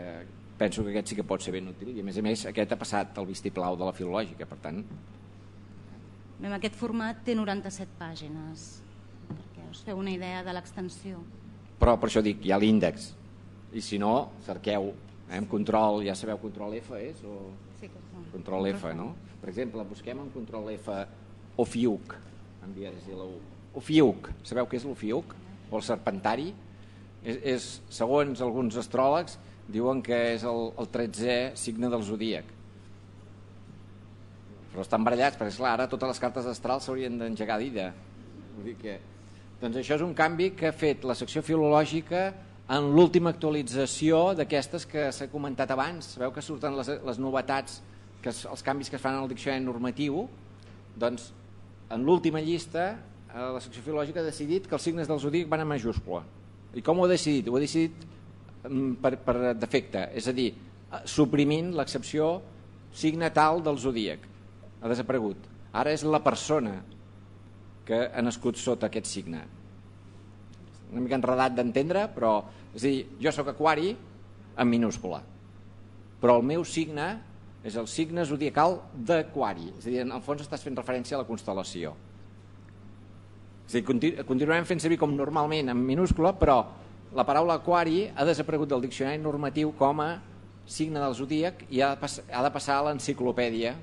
penso que aquest sí que pot ser ben útil i a més a més aquest ha passat el vistiplau de la filològica, per tant... En aquest format té noranta-set pàgines, perquè us feu una idea de l'extensió. Però per això dic, hi ha l'índex, i si no, cerqueu, eh, amb control, ja sabeu, control F és? O... Sí, que no. Control F, no? Per exemple, busquem en control F Ofiuc, amb dièresi a la U. Ofiuc, sabeu què és l'Ofiuc? O el serpentari? És, és, segons alguns astròlegs, diuen que és el, el tretzè signe del zodíac. Però estan barallats, perquè esclar, ara totes les cartes astrals s'haurien d'engegar d'ida. Vull dir que... Doncs això és un canvi que ha fet la secció filològica en l'última actualització d'aquestes que s'ha comentat abans. Sabeu que surten les, les novetats, que es, els canvis que es fan en el diccionari normatiu? Doncs en l'última llista la secció filològica ha decidit que els signes del zodíac van a majúscula. I com ho ha decidit? Ho ha decidit per, per defecte, és a dir, suprimint l'excepció signe tal del zodíac. Ha desaparegut. Ara és la persona que ha nascut sota aquest signe. Una mica enredat d'entendre, però és a dir, jo sóc aquari en minúscula, però el meu signe és el signe zodiacal d'aquari, és a dir, en el fons estàs fent referència a la constel·lació. És a dir, continu continuem fent servir com normalment en minúscula, però la paraula aquari ha desaparegut del diccionari normatiu com a signe del zodíac i ha de passar a l'enciclopèdia,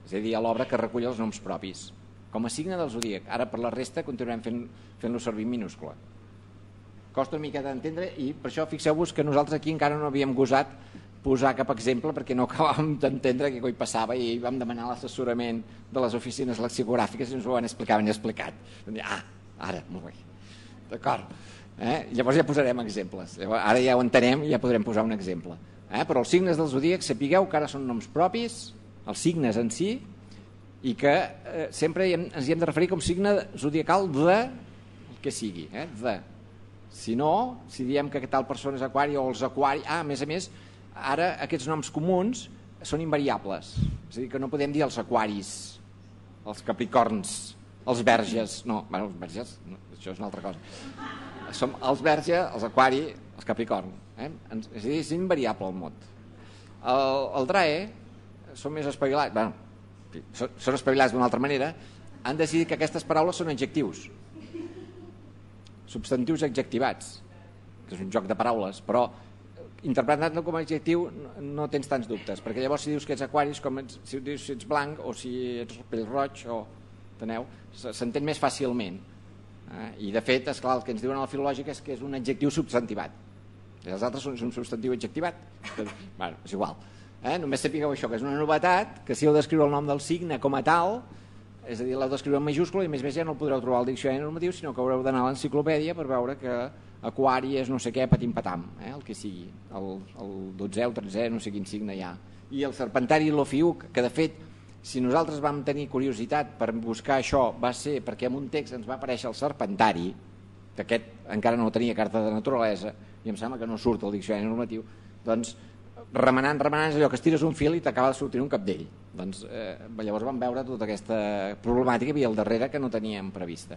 és a dir, a l'obra que recull els noms propis, com a signe del zodíac. Ara per la resta continuem fent-lo servir en minúscula. Costa una mica d'entendre i per això fixeu-vos que nosaltres aquí encara no havíem gosat posar cap exemple perquè no acabàvem d'entendre què coi passava i vam demanar l'assessorament de les oficines lexicogràfiques i ens ho van explicar, ben explicat. Ah, ara, molt bé, d'acord. Eh? Llavors ja posarem exemples. Llavors, ara ja ho entenem i ja podrem posar un exemple. Eh? Però els signes del zodíac sapigueu que ara són noms propis, els signes en si, i que eh, sempre ens hi hem de referir com signe zodiacal de el que sigui, eh? de. Si no, si diem que tal persona és aquari o els aquari, ah, a més a més, ara aquests noms comuns són invariables, és a dir, que no podem dir els aquaris, els capricorns, els verges, no, bueno, els verges, no, això és una altra cosa. Som els verge, els aquari, els capricorn, eh? És a dir, és invariable el mot. El, el drae són més espavilats, bueno, són espavilats d'una altra manera, han decidit que aquestes paraules són adjectius, substantius adjectivats, que és un joc de paraules, però interpretant-lo com a adjectiu no tens tants dubtes, perquè llavors si dius que ets aquari, com ets, si dius si ets blanc o si ets pell roig, o, teneu, s'entén més fàcilment. Eh? I de fet, esclar, el que ens diuen a la filològica és que és un adjectiu substantivat. I els altres són un substantiu adjectivat. Bueno, és igual. Eh? Només sapigueu això, que és una novetat, que si heu d'escriure el nom del signe com a tal, és a dir, l'heu d'escriure en majúscula i més més ja no el podreu trobar al diccionari normatiu, sinó que haureu d'anar a l'enciclopèdia per veure que aquari és no sé què, patim-patam, eh? el que sigui, el, el dotzè o tretzè, no sé quin signe hi ha. I el serpentari i l'ofiuc, que de fet, si nosaltres vam tenir curiositat per buscar això, va ser perquè en un text ens va aparèixer el serpentari, que aquest encara no tenia carta de naturalesa, i em sembla que no surt al diccionari normatiu, doncs remenant, remenant, és allò que estires un fil i t'acaba de sortir un capdell. Doncs eh, llavors vam veure tota aquesta problemàtica que hi havia al darrere que no teníem prevista.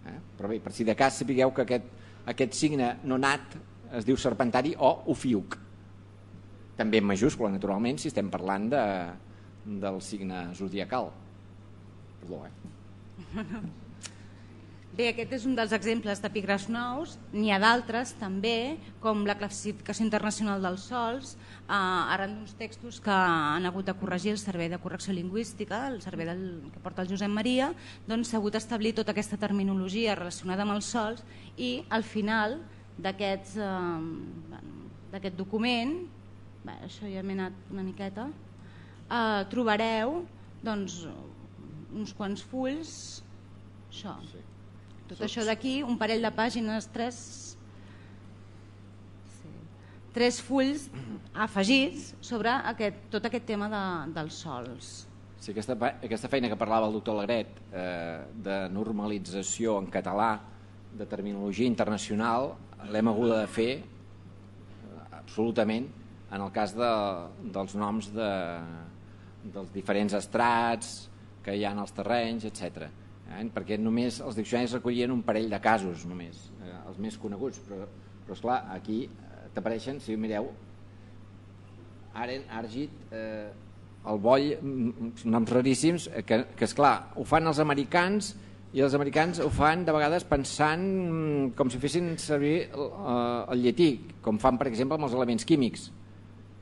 Eh? Però bé, per si de cas sapigueu que aquest, aquest signe no nat es diu serpentari o ofiuc. També en majúscula, naturalment, si estem parlant de, del signe zodiacal. Perdó, eh? Bé, aquest és un dels exemples d'epígrafs nous. N'hi ha d'altres també, com la classificació internacional dels sols, eh, arran d'uns textos que han hagut de corregir el Servei de Correcció Lingüística, el servei del, que porta el Josep Maria, doncs s'ha hagut d'establir tota aquesta terminologia relacionada amb els sols i al final d'aquest eh, document, bé, això ja m'he anat una miqueta, eh, trobareu doncs, uns quants fulls, això, sí. Tot això d'aquí, un parell de pàgines, tres, sí, tres fulls afegits sobre aquest, tot aquest tema de, dels sols. Sí, aquesta, aquesta feina que parlava el doctor Alegret eh, de normalització en català, de terminologia internacional, l'hem hagut de fer absolutament en el cas de, dels noms de, dels diferents estrats que hi ha en els terrenys, etcètera. Eh? Perquè només els diccionaris recollien un parell de casos només, eh, els més coneguts, però, però esclar, aquí eh, t'apareixen, si mireu, Aren, Argit, eh, el Boll, noms raríssims, eh, que, que esclar, ho fan els americans i els americans ho fan de vegades pensant com si fessin servir el, el llatí, com fan per exemple amb els elements químics.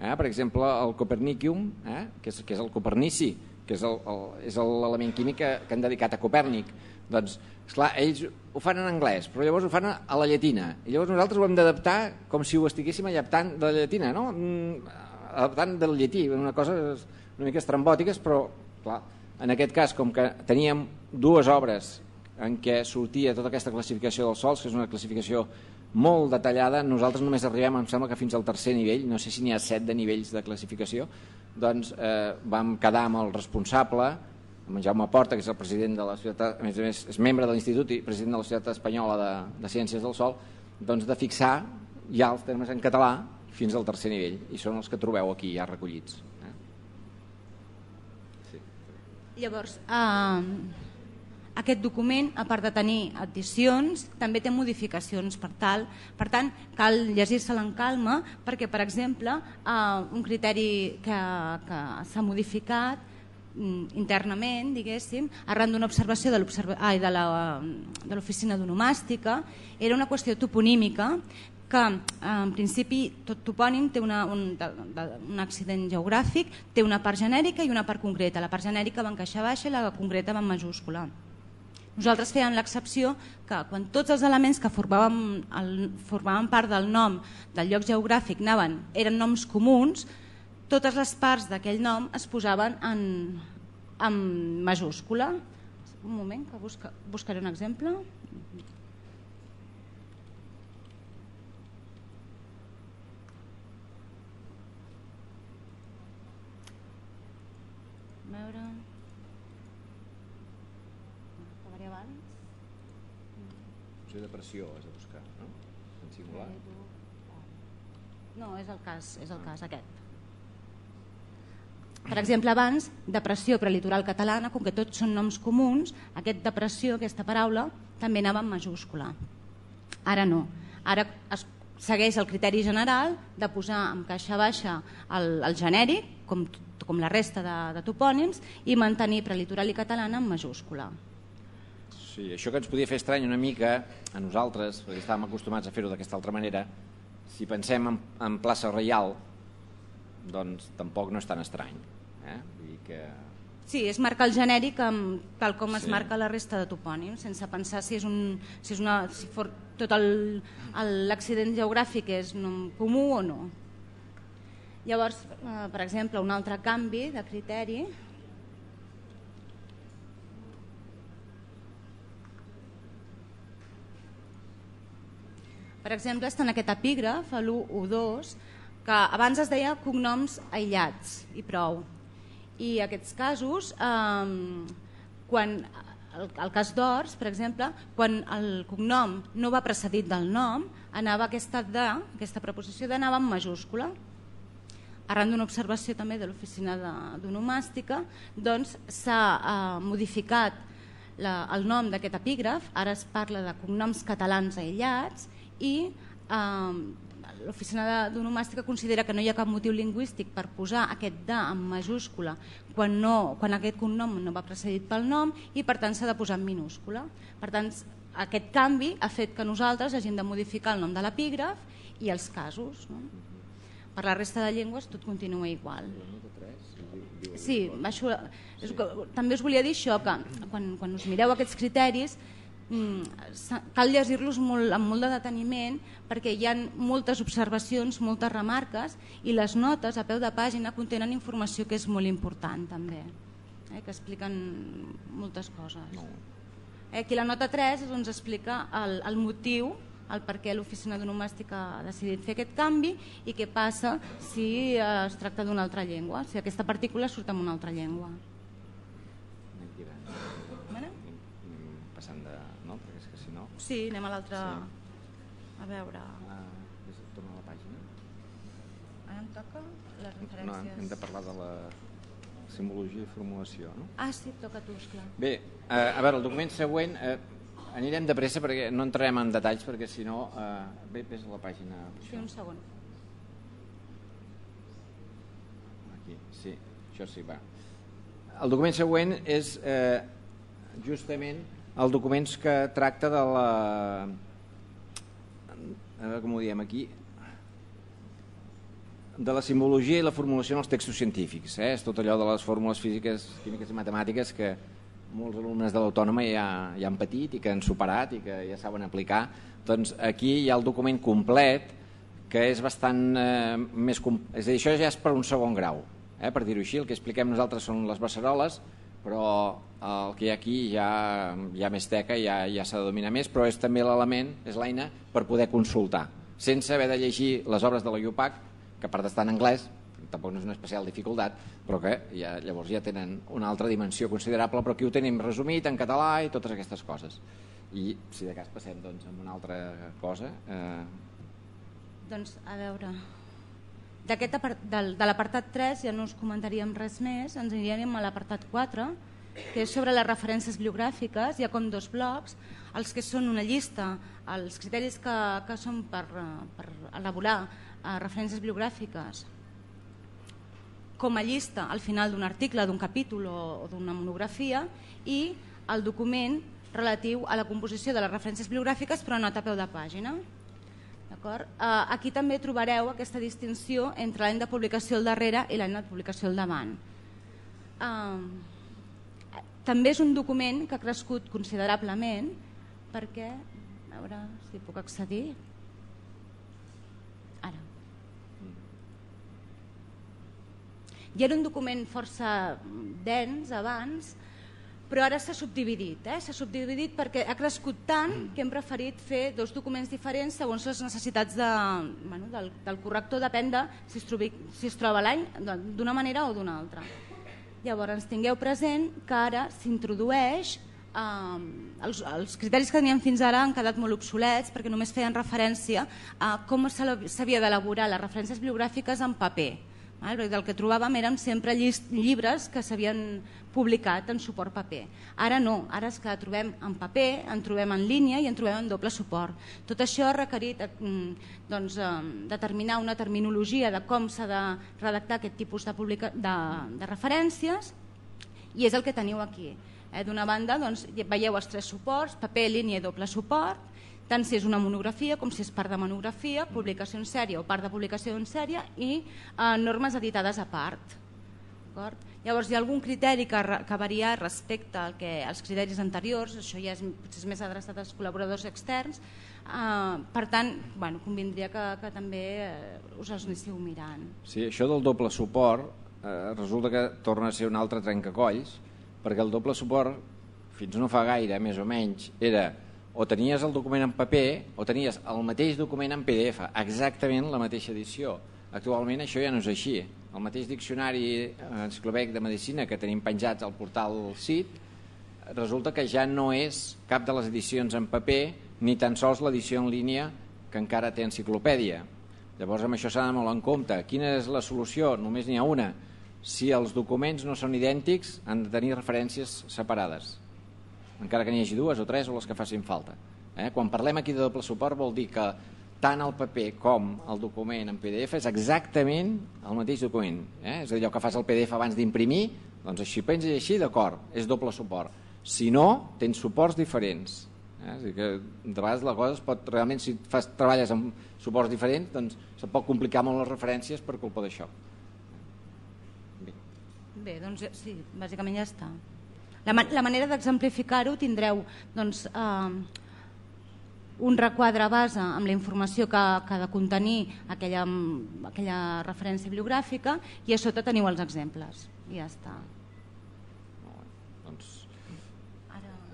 Eh? Per exemple, el Copernicium, eh? que, és, que és el Copernici, que és l'element químic que, que han dedicat a Copèrnic. Doncs, esclar, ells ho fan en anglès, però llavors ho fan a la llatina. I llavors nosaltres ho hem d'adaptar com si ho estiguéssim adaptant de la llatina, no? Adaptant del llatí, una cosa una mica estrambòtiques, però, clar, en aquest cas, com que teníem dues obres en què sortia tota aquesta classificació dels sols, que és una classificació molt detallada, nosaltres només arribem, em sembla que fins al tercer nivell, no sé si n'hi ha set de nivells de classificació, doncs eh, vam quedar amb el responsable, amb en Jaume Porta, que és el president de la Societat, a més a més és membre de l'Institut i president de la Societat Espanyola de, de Ciències del Sol, doncs de fixar ja els termes en català fins al tercer nivell, i són els que trobeu aquí ja recollits. Eh? Sí. Llavors, eh... aquest document, a part de tenir addicions, també té modificacions per tal. Per tant, cal llegir-se'l en calma perquè, per exemple, un criteri que, que s'ha modificat internament, diguéssim, arran d'una observació de l'oficina d'onomàstica, era una qüestió toponímica que en principi tot topònim té una, un, de, de, un accident geogràfic, té una part genèrica i una part concreta. La part genèrica va en caixa baixa i la concreta va en majúscula. Nosaltres fèiem l'excepció que quan tots els elements que formaven, el, formaven part del nom del lloc geogràfic anaven, eren noms comuns, totes les parts d'aquell nom es posaven en, en majúscula. Un moment, que busca, buscaré un exemple. A veure... Acabaré abans. Potser depressió has de buscar, no? En singular. No, és el cas, és el cas aquest. Per exemple, abans, depressió prelitoral catalana, com que tots són noms comuns, aquest depressió, aquesta paraula, també anava en majúscula. Ara no. Ara es segueix el criteri general de posar en caixa baixa el, el genèric, com, com la resta de, de topònims, i mantenir prelitoral i catalana en majúscula. Sí, això que ens podia fer estrany una mica a nosaltres, perquè estàvem acostumats a fer-ho d'aquesta altra manera, si pensem en, en plaça reial, doncs tampoc no és tan estrany. Eh? Vull dir que... Sí, és marcar el genèric amb, tal com es Sí. marca la resta de topònims, sense pensar si, és un, si, és una, si for, tot l'accident geogràfic és nom comú o no. Llavors, eh, per exemple, un altre canvi de criteri... Per exemple, està en aquest epígraf, a l'u u dos, que abans es deia cognoms aïllats i prou. I aquests casos, eh, quan el, el cas d'Ors, per exemple, quan el cognom no va precedit del nom, anava aquesta de, aquesta preposició d'anava en majúscula. Arran d'una observació també de l'oficina d'onomàstica, doncs s'ha eh, modificat la, el nom d'aquest epígraf, ara es parla de cognoms catalans aïllats, i eh, l'oficina d'onomàstica considera que no hi ha cap motiu lingüístic per posar aquest de en majúscula quan, no, quan aquest cognom no va precedit pel nom i per tant s'ha de posar en minúscula. Per tant, aquest canvi ha fet que nosaltres hagin de modificar el nom de l'epígraf i els casos. No? Per la resta de llengües tot continua igual. Sí, això, és, també us volia dir això, que quan, quan us mireu aquests criteris cal llegir-los molt, amb molt de deteniment perquè hi ha moltes observacions, moltes remarques i les notes a peu de pàgina contenen informació que és molt important també, eh, que expliquen moltes coses. Eh, aquí la nota tres ens explica el, el motiu, el per què l'oficina d'onomàstica ha decidit fer aquest canvi i què passa si es tracta d'una altra llengua, si aquesta partícula surt en una altra llengua. Sí, anem a l'altre... Sí. A veure... Uh, torna a la pàgina. Ara em toca les referències... No, hem de parlar de la simbologia i formulació, no? Ah, sí, toca tu, esclar. Bé, uh, a veure, el document següent... Uh, anirem de pressa perquè no entrarem en detalls perquè si no... Uh, bé, ves a la pàgina... Sí, un segon. Aquí, sí, això sí, va. El document següent és eh, justament... el document que tracta de la... a veure com ho diem aquí... de la simbologia i la formulació en els textos científics. Eh? És tot allò de les fórmules físiques, químiques i matemàtiques que molts alumnes de l'Autònoma ja, ja han patit i que han superat i que ja saben aplicar. Doncs aquí hi ha el document complet que és bastant eh, més... És a dir, això ja és per un segon grau. Eh? Per dir-ho així, el que expliquem nosaltres són les beceroles, però el que hi ha aquí ja hi ha més teca, ja, ja s'ha de dominar més, però és també l'element, és l'eina per poder consultar, sense haver de llegir les obres de la I U P A C, que a part d'estar en anglès, tampoc no és una especial dificultat, però que ja, llavors ja tenen una altra dimensió considerable, però aquí ho tenim resumit en català i totes aquestes coses. I si de cas passem doncs, a una altra cosa... Eh... Doncs a veure... De l'apartat tres ja no us comentaríem res més, ens aniríem a l'apartat quatre, que és sobre les referències bibliogràfiques. Hi ha com dos blocs, els que són una llista, els criteris que, que són per, per elaborar eh, referències bibliogràfiques com a llista al final d'un article, d'un capítol o, o d'una monografia, i el document relatiu a la composició de les referències bibliogràfiques però nota a peu de pàgina. Aquí també trobareu aquesta distinció entre l'any de publicació al darrere i l'any de publicació al davant. També és un document que ha crescut considerablement perquè, a veure si puc accedir, ara. I era un document força dens abans, però ara s'ha subdividit, eh? s'ha subdividit perquè ha crescut tant que hem preferit fer dos documents diferents segons les necessitats de, bueno, del, del corrector, depèn de si es, trobi, si es troba l'any d'una manera o d'una altra. Llavors, tingueu present que ara s'introdueix, eh, els, els criteris que teníem fins ara han quedat molt obsolets perquè només feien referència a com s'havia d'elaborar les referències bibliogràfiques en paper. El que trobàvem eren sempre llibres que s'havien publicat en suport paper. Ara no, ara és que trobem en paper, en trobem en línia i en trobem en doble suport. Tot això ha requerit doncs, determinar una terminologia de com s'ha de redactar aquest tipus de, publica... de, de referències i és el que teniu aquí. Eh? D'una banda doncs, veieu els tres suports, paper, línia i doble suport, tant si és una monografia com si és part de monografia, publicació en sèrie o part de publicació en sèrie i eh, normes editades a part. Llavors hi ha algun criteri que, que varia respecte al que, als criteris anteriors, això ja és, és més adreçat als col·laboradors externs, eh, per tant, bueno, convindria que, que també eh, us els anéssiu mirant. Sí, això del doble suport eh, resulta que torna a ser un altre trencacolls, perquè el doble suport, fins no fa gaire, més o menys, era o tenies el document en paper o tenies el mateix document en P D F, exactament la mateixa edició. Actualment això ja no és així. El mateix diccionari enciclopèdic de medicina que tenim penjats al portal C I T resulta que ja no és cap de les edicions en paper ni tan sols l'edició en línia que encara té enciclopèdia. Llavors amb això s'ha de molt en compte. Quina és la solució? Només n'hi ha una. Si els documents no són idèntics han de tenir referències separades, encara que n'hi hagi dues o tres o les que facin falta. Eh? Quan parlem aquí de doble suport vol dir que tant el paper com el document en P D F és exactament el mateix document. Eh? És a dir, allò que fas el P D F abans d'imprimir, doncs així penses així, d'acord, és doble suport. Si no, tens suports diferents. Eh? És a dir, que de vegades la cosa es pot, realment, si fas, treballes amb suports diferents, doncs se pot complicar molt les referències per culpa d'això. Bé. Bé, doncs sí, bàsicament ja està. La, man la manera d'exemplificar-ho tindreu doncs, eh, un requadre base amb la informació que, que ha de contenir aquella, aquella referència bibliogràfica i a sota teniu els exemples. I ja està. Doncs,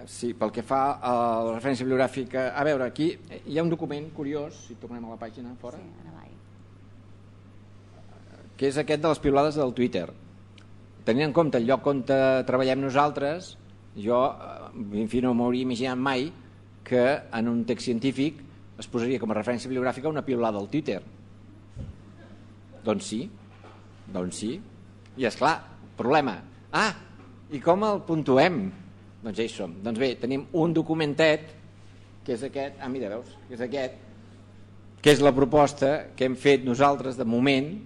sí, pel que fa a la referència bibliogràfica, a veure, aquí hi ha un document curiós, si tornem a la pàgina fora, sí, ara vaig. Que és aquest de les piulades del Twitter. Tenint en compte el lloc on treballem nosaltres, jo en fi, no m'hauria imaginat mai que en un text científic es posaria com a referència bibliogràfica una piulada al Twitter. Doncs sí, doncs sí. I esclar, problema. Ah, i com el puntuem? Doncs ja hi som. Doncs bé, tenim un documentet, que és aquest, ah mira, veus, que és aquest, que és la proposta que hem fet nosaltres de moment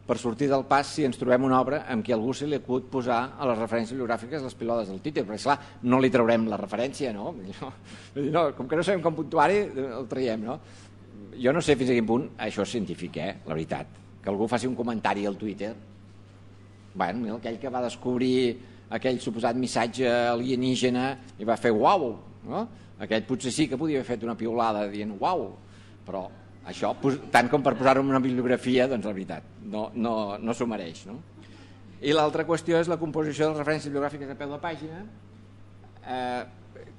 per sortir del pas si ens trobem una obra amb què algú se li acut posar a les referències bibliogràfiques les pilades del Twitter, perquè esclar, no li traurem la referència, no? no com que no sabem com puntuar-hi, el traiem, no? Jo no sé fins a quin punt això és científic, eh? La veritat. Que algú faci un comentari al Twitter. Bueno, aquell que va descobrir aquell suposat missatge alienígena i va fer uau, no? Aquell potser sí que podia haver fet una piulada dient uau, però això, tant com per posar-ho en una bibliografia, doncs la veritat, no, no, no s'ho mereix. No? I l'altra qüestió és la composició de les referències bibliogràfiques a peu de pàgina, eh,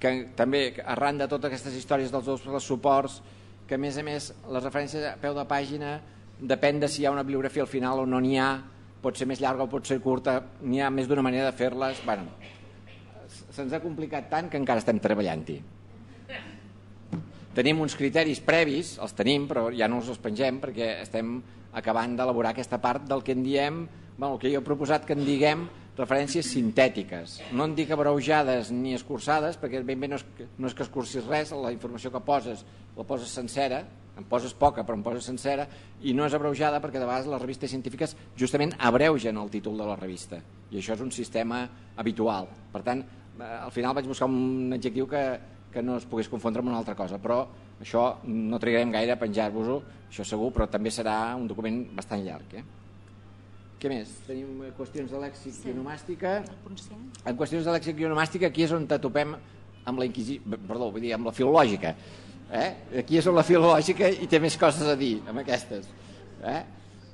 que també arran de totes aquestes històries dels dos suports, que a més a més les referències a peu de pàgina depèn de si hi ha una bibliografia al final o no n'hi ha, pot ser més llarga o pot ser curta, n'hi ha més d'una manera de fer-les. Bueno, se'ns ha complicat tant que encara estem treballant-hi. Tenim uns criteris previs, els tenim, però ja no els pengem perquè estem acabant d'elaborar aquesta part del que en diem, bueno, el que jo he proposat que en diguem referències sintètiques. No en dic abreujades ni escurçades, perquè ben bé no és, no és que escurcis res, la informació que poses la poses sencera, en poses poca però en poses sencera, i no és abreujada perquè de vegades les revistes científiques justament abreugen el títol de la revista, i això és un sistema habitual. Per tant, al final vaig buscar un adjectiu que que no es pogués confondre amb una altra cosa, però Això no trigarem gaire a penjar-vos-ho, això segur, però també serà un document bastant llarg. Eh? Què més? Tenim qüestions de lèxic sí. i onomàstica. En qüestions de lèxic i onomàstica, aquí és on topem amb la inquisició, perdó, vull dir, amb la filològica. Eh? Aquí és on la filològica i té més coses a dir, amb aquestes. Eh?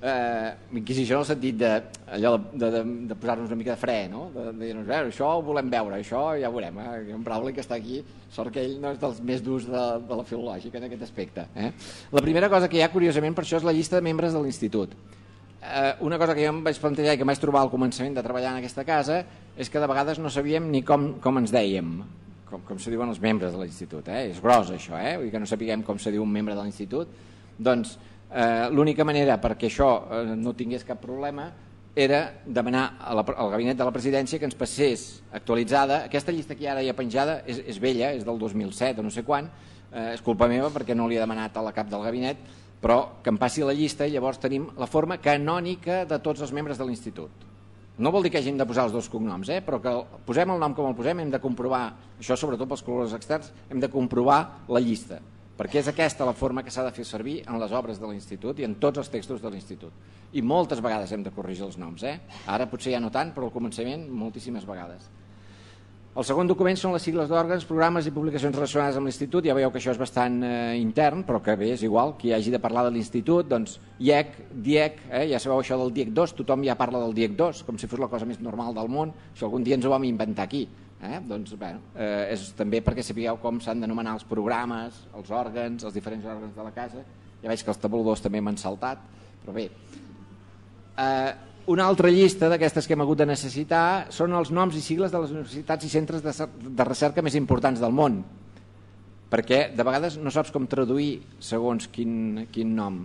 Eh, inquisició en el sentit de, allò de, de, de posar-nos una mica de fre, no? De, de dir-nos, això ho volem veure, això ja ho veurem. Eh? En Brauli, que està aquí, sort que ell no és dels més durs de, de la filològica en aquest aspecte. Eh? La primera cosa que hi ha, curiosament, per això és la llista de membres de l'institut. Eh, una cosa que jo em vaig plantejar i que em vaig trobar al començament de treballar en aquesta casa és que de vegades no sabíem ni com, com ens dèiem, com, com se diuen els membres de l'institut. Eh? És gros això, eh? Vull dir que no sapiguem com se diu un membre de l'institut. Doncs eh, l'única manera perquè això eh, no tingués cap problema era demanar a la, al gabinet de la presidència que ens passés actualitzada. Aquesta llista que ara hi ha penjada és, és vella, és del dos mil set o no sé quan, eh, és culpa meva perquè no li he demanat a la cap del gabinet, però que em passi la llista i llavors tenim la forma canònica de tots els membres de l'institut. No vol dir que hagin de posar els dos cognoms, eh? Però que posem el nom com el posem, hem de comprovar, això sobretot pels col·laboradors externs, hem de comprovar la llista, perquè és aquesta la forma que s'ha de fer servir en les obres de l'institut i en tots els textos de l'institut. I moltes vegades hem de corregir els noms, eh? Ara potser ja no tant, però al començament moltíssimes vegades. El segon document són les sigles d'òrgans, programes i publicacions relacionades amb l'institut. Ja veieu que això és bastant eh, intern, però que bé, és igual, qui hagi de parlar de l'institut, doncs I E C, D I E C, eh, ja sabeu això del D I E C dos, tothom ja parla del D I E C dos, com si fos la cosa més normal del món, això algun dia ens ho vam inventar aquí. Eh? Doncs bueno, eh, és també perquè sapigueu com s'han d'anomenar els programes, els òrgans, els diferents òrgans de la casa. Ja veig que els tabuladors també m'han saltat, però bé. Eh, Una altra llista d'aquestes que hem hagut de necessitar són els noms i sigles de les universitats i centres de, de recerca més importants del món, perquè de vegades no saps com traduir segons quin, quin nom,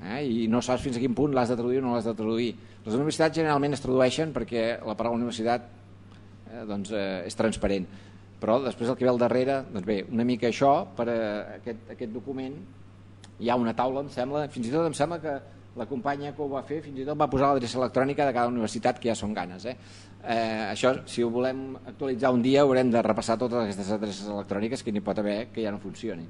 eh? I no saps fins a quin punt l'has de traduir o no l'has de traduir. Les universitats generalment es tradueixen perquè la paraula universitat eh, doncs, eh, és transparent, però després el que ve al darrere, doncs bé, una mica això, per a aquest, aquest document hi ha una taula, em sembla, fins i tot em sembla que la companya que ho va fer fins i tot va posar l'adreça electrònica de cada universitat, que ja són ganes. Eh? Eh, això, si ho volem actualitzar un dia, haurem de repassar totes aquestes adreces electròniques que n'hi pot haver que ja no funcionin.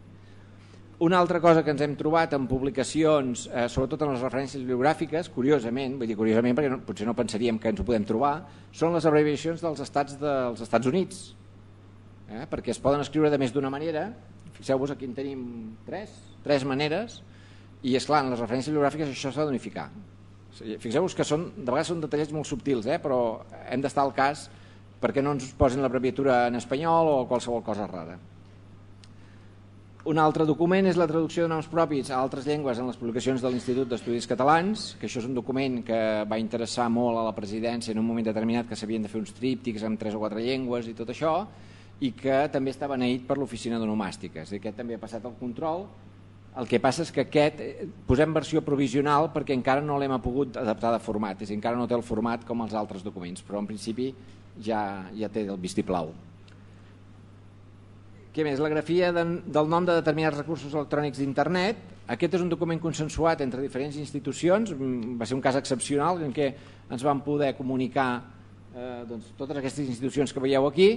Una altra cosa que ens hem trobat en publicacions, eh, sobretot en les referències bibliogràfiques, curiosament, vull dir curiosament perquè no, potser no pensaríem que ens ho podem trobar, són les abreviacions dels estats dels Estats Units, eh? Perquè es poden escriure de més d'una manera. Fixeu-vos, aquí en tenim tres, tres maneres. I és clar, en les referències bibliogràfiques això s'ha d'unificar. Fixeu-vos que són, de vegades són detallets molt subtils, eh? Però hem d'estar al cas perquè no ens posin l'abreviatura en espanyol o qualsevol cosa rara. Un altre document és la traducció de noms propis a altres llengües en les publicacions de l'Institut d'Estudis Catalans, que això és un document que va interessar molt a la presidència en un moment determinat, que s'havien de fer uns tríptics amb tres o quatre llengües i tot això, i que també estava beneït per l'oficina d'onomàstiques. I aquest també ha passat el control. El que passa és que aquest posem versió provisional perquè encara no l'hem pogut adaptar de format, és a dir, encara no té el format com els altres documents, però en principi ja, ja té el vistiplau. Què més? La grafia de, del nom de determinats recursos electrònics d'internet. Aquest és un document consensuat entre diferents institucions, va ser un cas excepcional en què ens vam poder comunicar eh, doncs, totes aquestes institucions que veieu aquí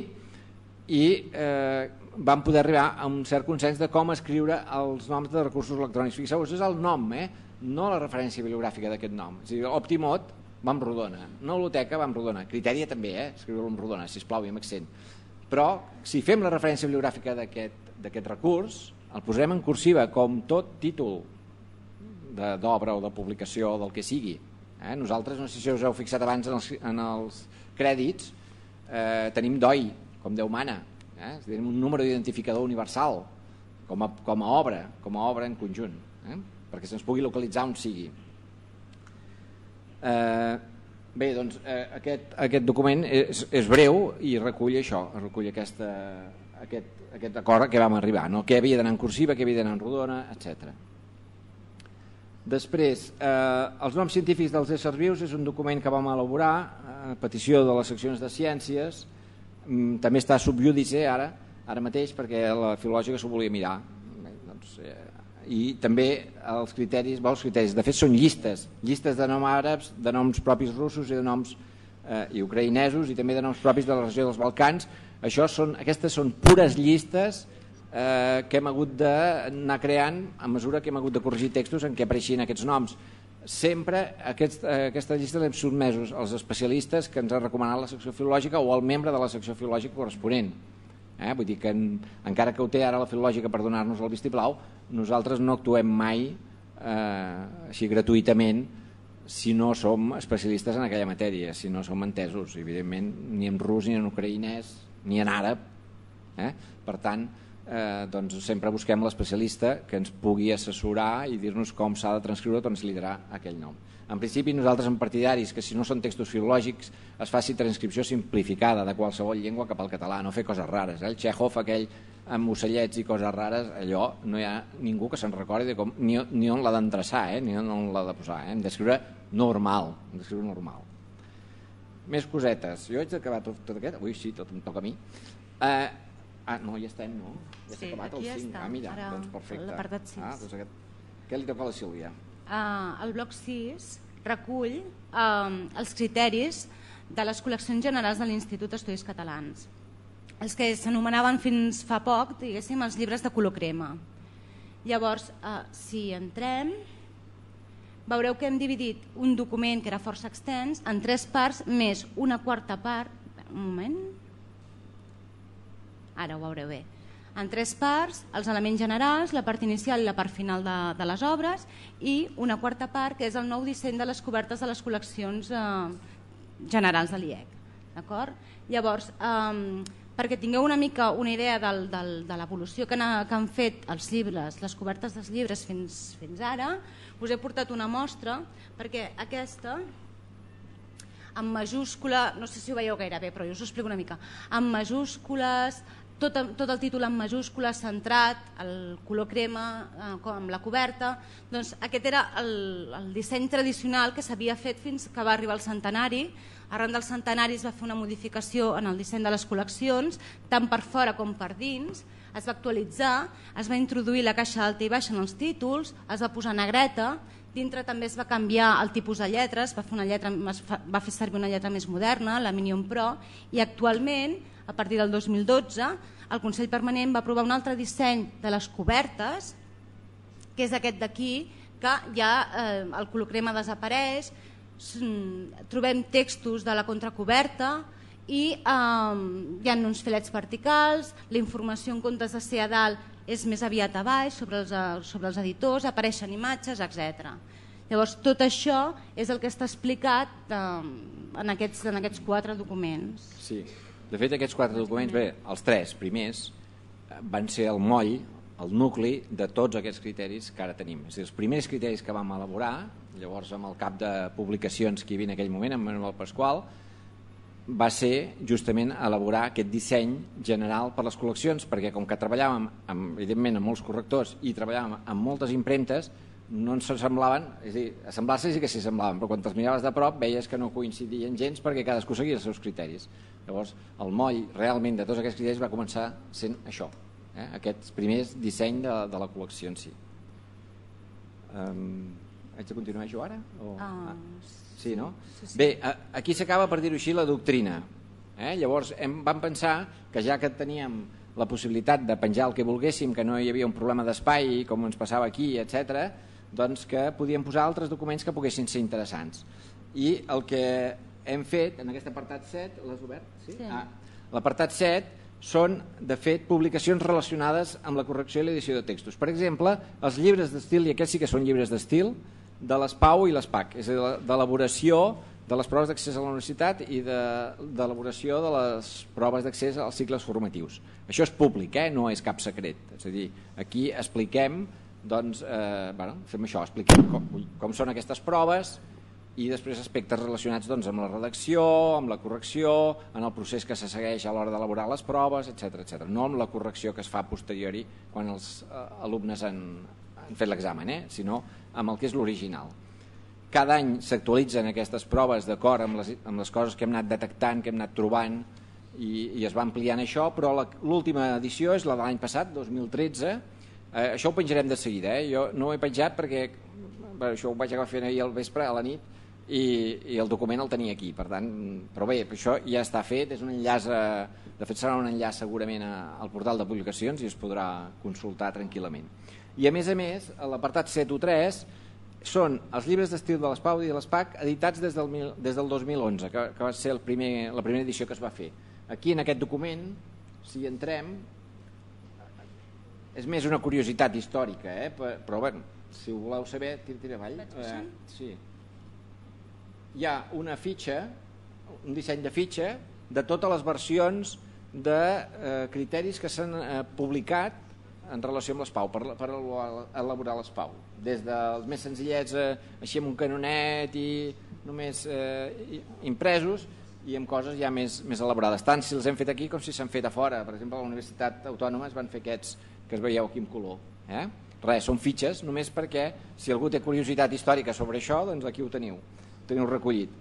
i eh, vam poder arribar a un cert consens de com escriure els noms de recursos electrònics. Fixeu-vos, és el nom, eh? No la referència bibliogràfica d'aquest nom. És a dir, Optimot va amb rodona, Noluteca va amb rodona, Criteria també, eh? Escriure-lo amb rodona, sisplau, i amb accent. Però si fem la referència bibliogràfica d'aquest recurs, el posarem en cursiva, com tot títol d'obra o de publicació o del que sigui. Eh? Nosaltres, no sé si us heu fixat abans en els, en els crèdits, eh, tenim D O I, com Déu mana, eh? És a dir, un número d'identificador universal com a, com a obra, com a obra en conjunt, eh? Perquè se'ns pugui localitzar on sigui. Eh, bé, doncs eh, aquest, aquest document és, és breu i recull això, recull aquesta, aquest, aquest acord a què vam arribar, no? Què havia d'anar en cursiva, què havia d'anar en rodona, etcètera. Després, eh, els noms científics dels éssers vius és un document que vam elaborar a petició de les seccions de ciències. Mm, també està sub judice ara, ara mateix, perquè la filològica s'ho volia mirar. Bé, doncs, eh, I també els criteris, bé, els criteris, de fet són llistes, llistes de noms àrabs, de noms propis russos i de noms eh, i ucraïnesos i també de noms propis de la regió dels Balcans. Això són, aquestes són pures llistes que hem hagut d'anar creant a mesura que hem hagut de corregir textos en què apareixien aquests noms. Sempre aquesta llista l'hem sotmesos als especialistes que ens ha recomanat la secció filològica o al membre de la secció filològica corresponent. Vull dir que encara que ho té ara la filològica per donar-nos el vistiplau, nosaltres no actuem mai així gratuïtament si no som especialistes en aquella matèria, si no som entesos, evidentment, ni en rus, ni en ucraïnès, ni en àrab. Per tant, sempre busquem l'especialista que ens pugui assessorar i dir-nos com s'ha de transcriure o transliterar aquell nom. En principi, nosaltres som partidaris que si no són textos filològics es faci transcripció simplificada de qualsevol llengua cap al català, no fer coses rares. El Chekhov, aquell amb ocellets i coses rares, allò no hi ha ningú que se'n recordi ni on l'ha d'endreçar, ni on l'ha de posar. Hem d'escriure normal, hem d'escriure normal. Més cosetes. Jo haig d'acabar tot aquest? Ui, sí, tot em toca a mi. Ah, no, ja estem, no? Ja s'ha acabat el cinc. Ah, mira, doncs perfecte. L'apartat sis. Què li toca a la Sílvia? El bloc sis recull els criteris de les col·leccions generals de l'Institut d'Estudis Catalans, els que s'anomenaven fins fa poc, diguéssim, els llibres de color crema. Llavors, si entrem, veureu que hem dividit un document que era força extens en tres parts més una quarta part. Un moment. Ara ho veureu bé. En tres parts, els elements generals, la part inicial i la part final de, de les obres, i una quarta part, que és el nou disseny de les cobertes de les col·leccions eh, generals de l'I E C. D'acord? Llavors, eh, perquè tingueu una mica una idea del, del, de l'evolució que, que han fet els llibres, les cobertes dels llibres fins, fins ara, us he portat una mostra, perquè aquesta, en majúscula, no sé si ho veieu gaire bé, però jo us ho explico una mica, en majúscules, Tot, tot el títol en majúscules, centrat, el color crema, eh, amb la coberta, doncs aquest era el, el disseny tradicional que s'havia fet fins que va arribar el centenari. Arran del centenari es va fer una modificació en el disseny de les col·leccions, tant per fora com per dins, es va actualitzar, es va introduir la caixa alta i baixa en els títols, es va posar negreta, dintre també es va canviar el tipus de lletres, va fer, una lletra, va fer servir una lletra més moderna, la Minion Pro, i actualment, a partir del dos mil dotze, el Consell Permanent va aprovar un altre disseny de les cobertes, que és aquest d'aquí, que ja eh, el color crema desapareix, trobem textos de la contracoberta i eh, hi ha uns filets verticals, la informació en comptes de ser a dalt és més aviat a baix, sobre els, sobre els editors, apareixen imatges, etcètera. Llavors, tot això és el que està explicat eh, en, aquests, en aquests quatre documents. Sí. De fet, aquests quatre documents, bé, els tres primers, van ser el moll, el nucli de tots aquests criteris que ara tenim. És a dir, els primers criteris que vam elaborar, llavors amb el cap de publicacions que hi havia en aquell moment, amb Manuel Pasqual, va ser justament elaborar aquest disseny general per les col·leccions, perquè com que treballàvem, amb, evidentment, amb molts correctors i treballàvem amb moltes impremtes, no ens semblaven, és a dir, assemblar-se sí que s'hi semblaven, però quan te'ls miraves de prop veies que no coincidien gens perquè cadascú seguia els seus criteris. Llavors, el moll realment de tots aquests criteris va començar sent això, eh? Aquests primers disseny de, de la col·lecció en si. Um, haig de continuar jo ara? O... Uh, ah, sí, no? Sí, sí. Bé, aquí s'acaba, per dir-ho així, la doctrina. Eh? Llavors, hem, vam pensar que ja que teníem la possibilitat de penjar el que volguéssim, que no hi havia un problema d'espai, com ens passava aquí, etcètera, doncs que podíem posar altres documents que poguessin ser interessants. I el que hem fet en aquest apartat set, l'has obert? Sí? Sí. Ah, l'apartat set són, de fet, publicacions relacionades amb la correcció i l'edició de textos. Per exemple, els llibres d'estil, i aquests sí que són llibres d'estil, de l'ESPAU i l'ESPAC, és a dir, d'elaboració de les proves d'accés a la universitat i d'elaboració de, de les proves d'accés als cicles formatius. Això és públic, eh? No és cap secret. És a dir, aquí expliquem, doncs, eh, bueno, fem això, expliquem com, com són aquestes proves i després aspectes relacionats doncs, amb la redacció, amb la correcció, en el procés que se segueix a l'hora d'elaborar les proves, etcètera, etcètera. No amb la correcció que es fa a posteriori quan els eh, alumnes han, han fet l'examen, eh? Sinó amb el que és l'original. Cada any s'actualitzen aquestes proves d'acord amb, amb les coses que hem anat detectant, que hem anat trobant i, i es va ampliant això, però l'última edició és la de l'any passat, dos mil tretze. Eh, això ho penjarem de seguida, eh? Jo no ho he penjat perquè bé, això ho vaig acabar fent ahir al vespre, a la nit, i, i el document el tenia aquí, per tant, però bé, això ja està fet, és un enllaç, a, de fet serà un enllaç segurament a, al portal de publicacions i es podrà consultar tranquil·lament. I a més a més, a l'apartat set u tres són els llibres d'estil de l'Espau i de l'Espac editats des del, des del dos mil onze, que, que va ser el primer, la primera edició que es va fer. Aquí en aquest document, si entrem, és més una curiositat històrica, eh? Però bueno, si ho voleu saber, tira, tira avall. Eh, sí. Hi ha una fitxa, un disseny de fitxa de totes les versions de eh, criteris que s'han eh, publicat en relació amb l'Espau, per, per elaborar l'Espau. Des dels més senzillets, eh, així amb un canonet i només eh, impresos, i amb coses ja més, més elaborades. Tant si els hem fet aquí com si s'han fet a fora. Per exemple, a la Universitat Autònoma es van fer aquests que es veieu aquí en color. Eh? Res, són fitxes, només perquè si algú té curiositat històrica sobre això, doncs aquí ho teniu, ho teniu recollit.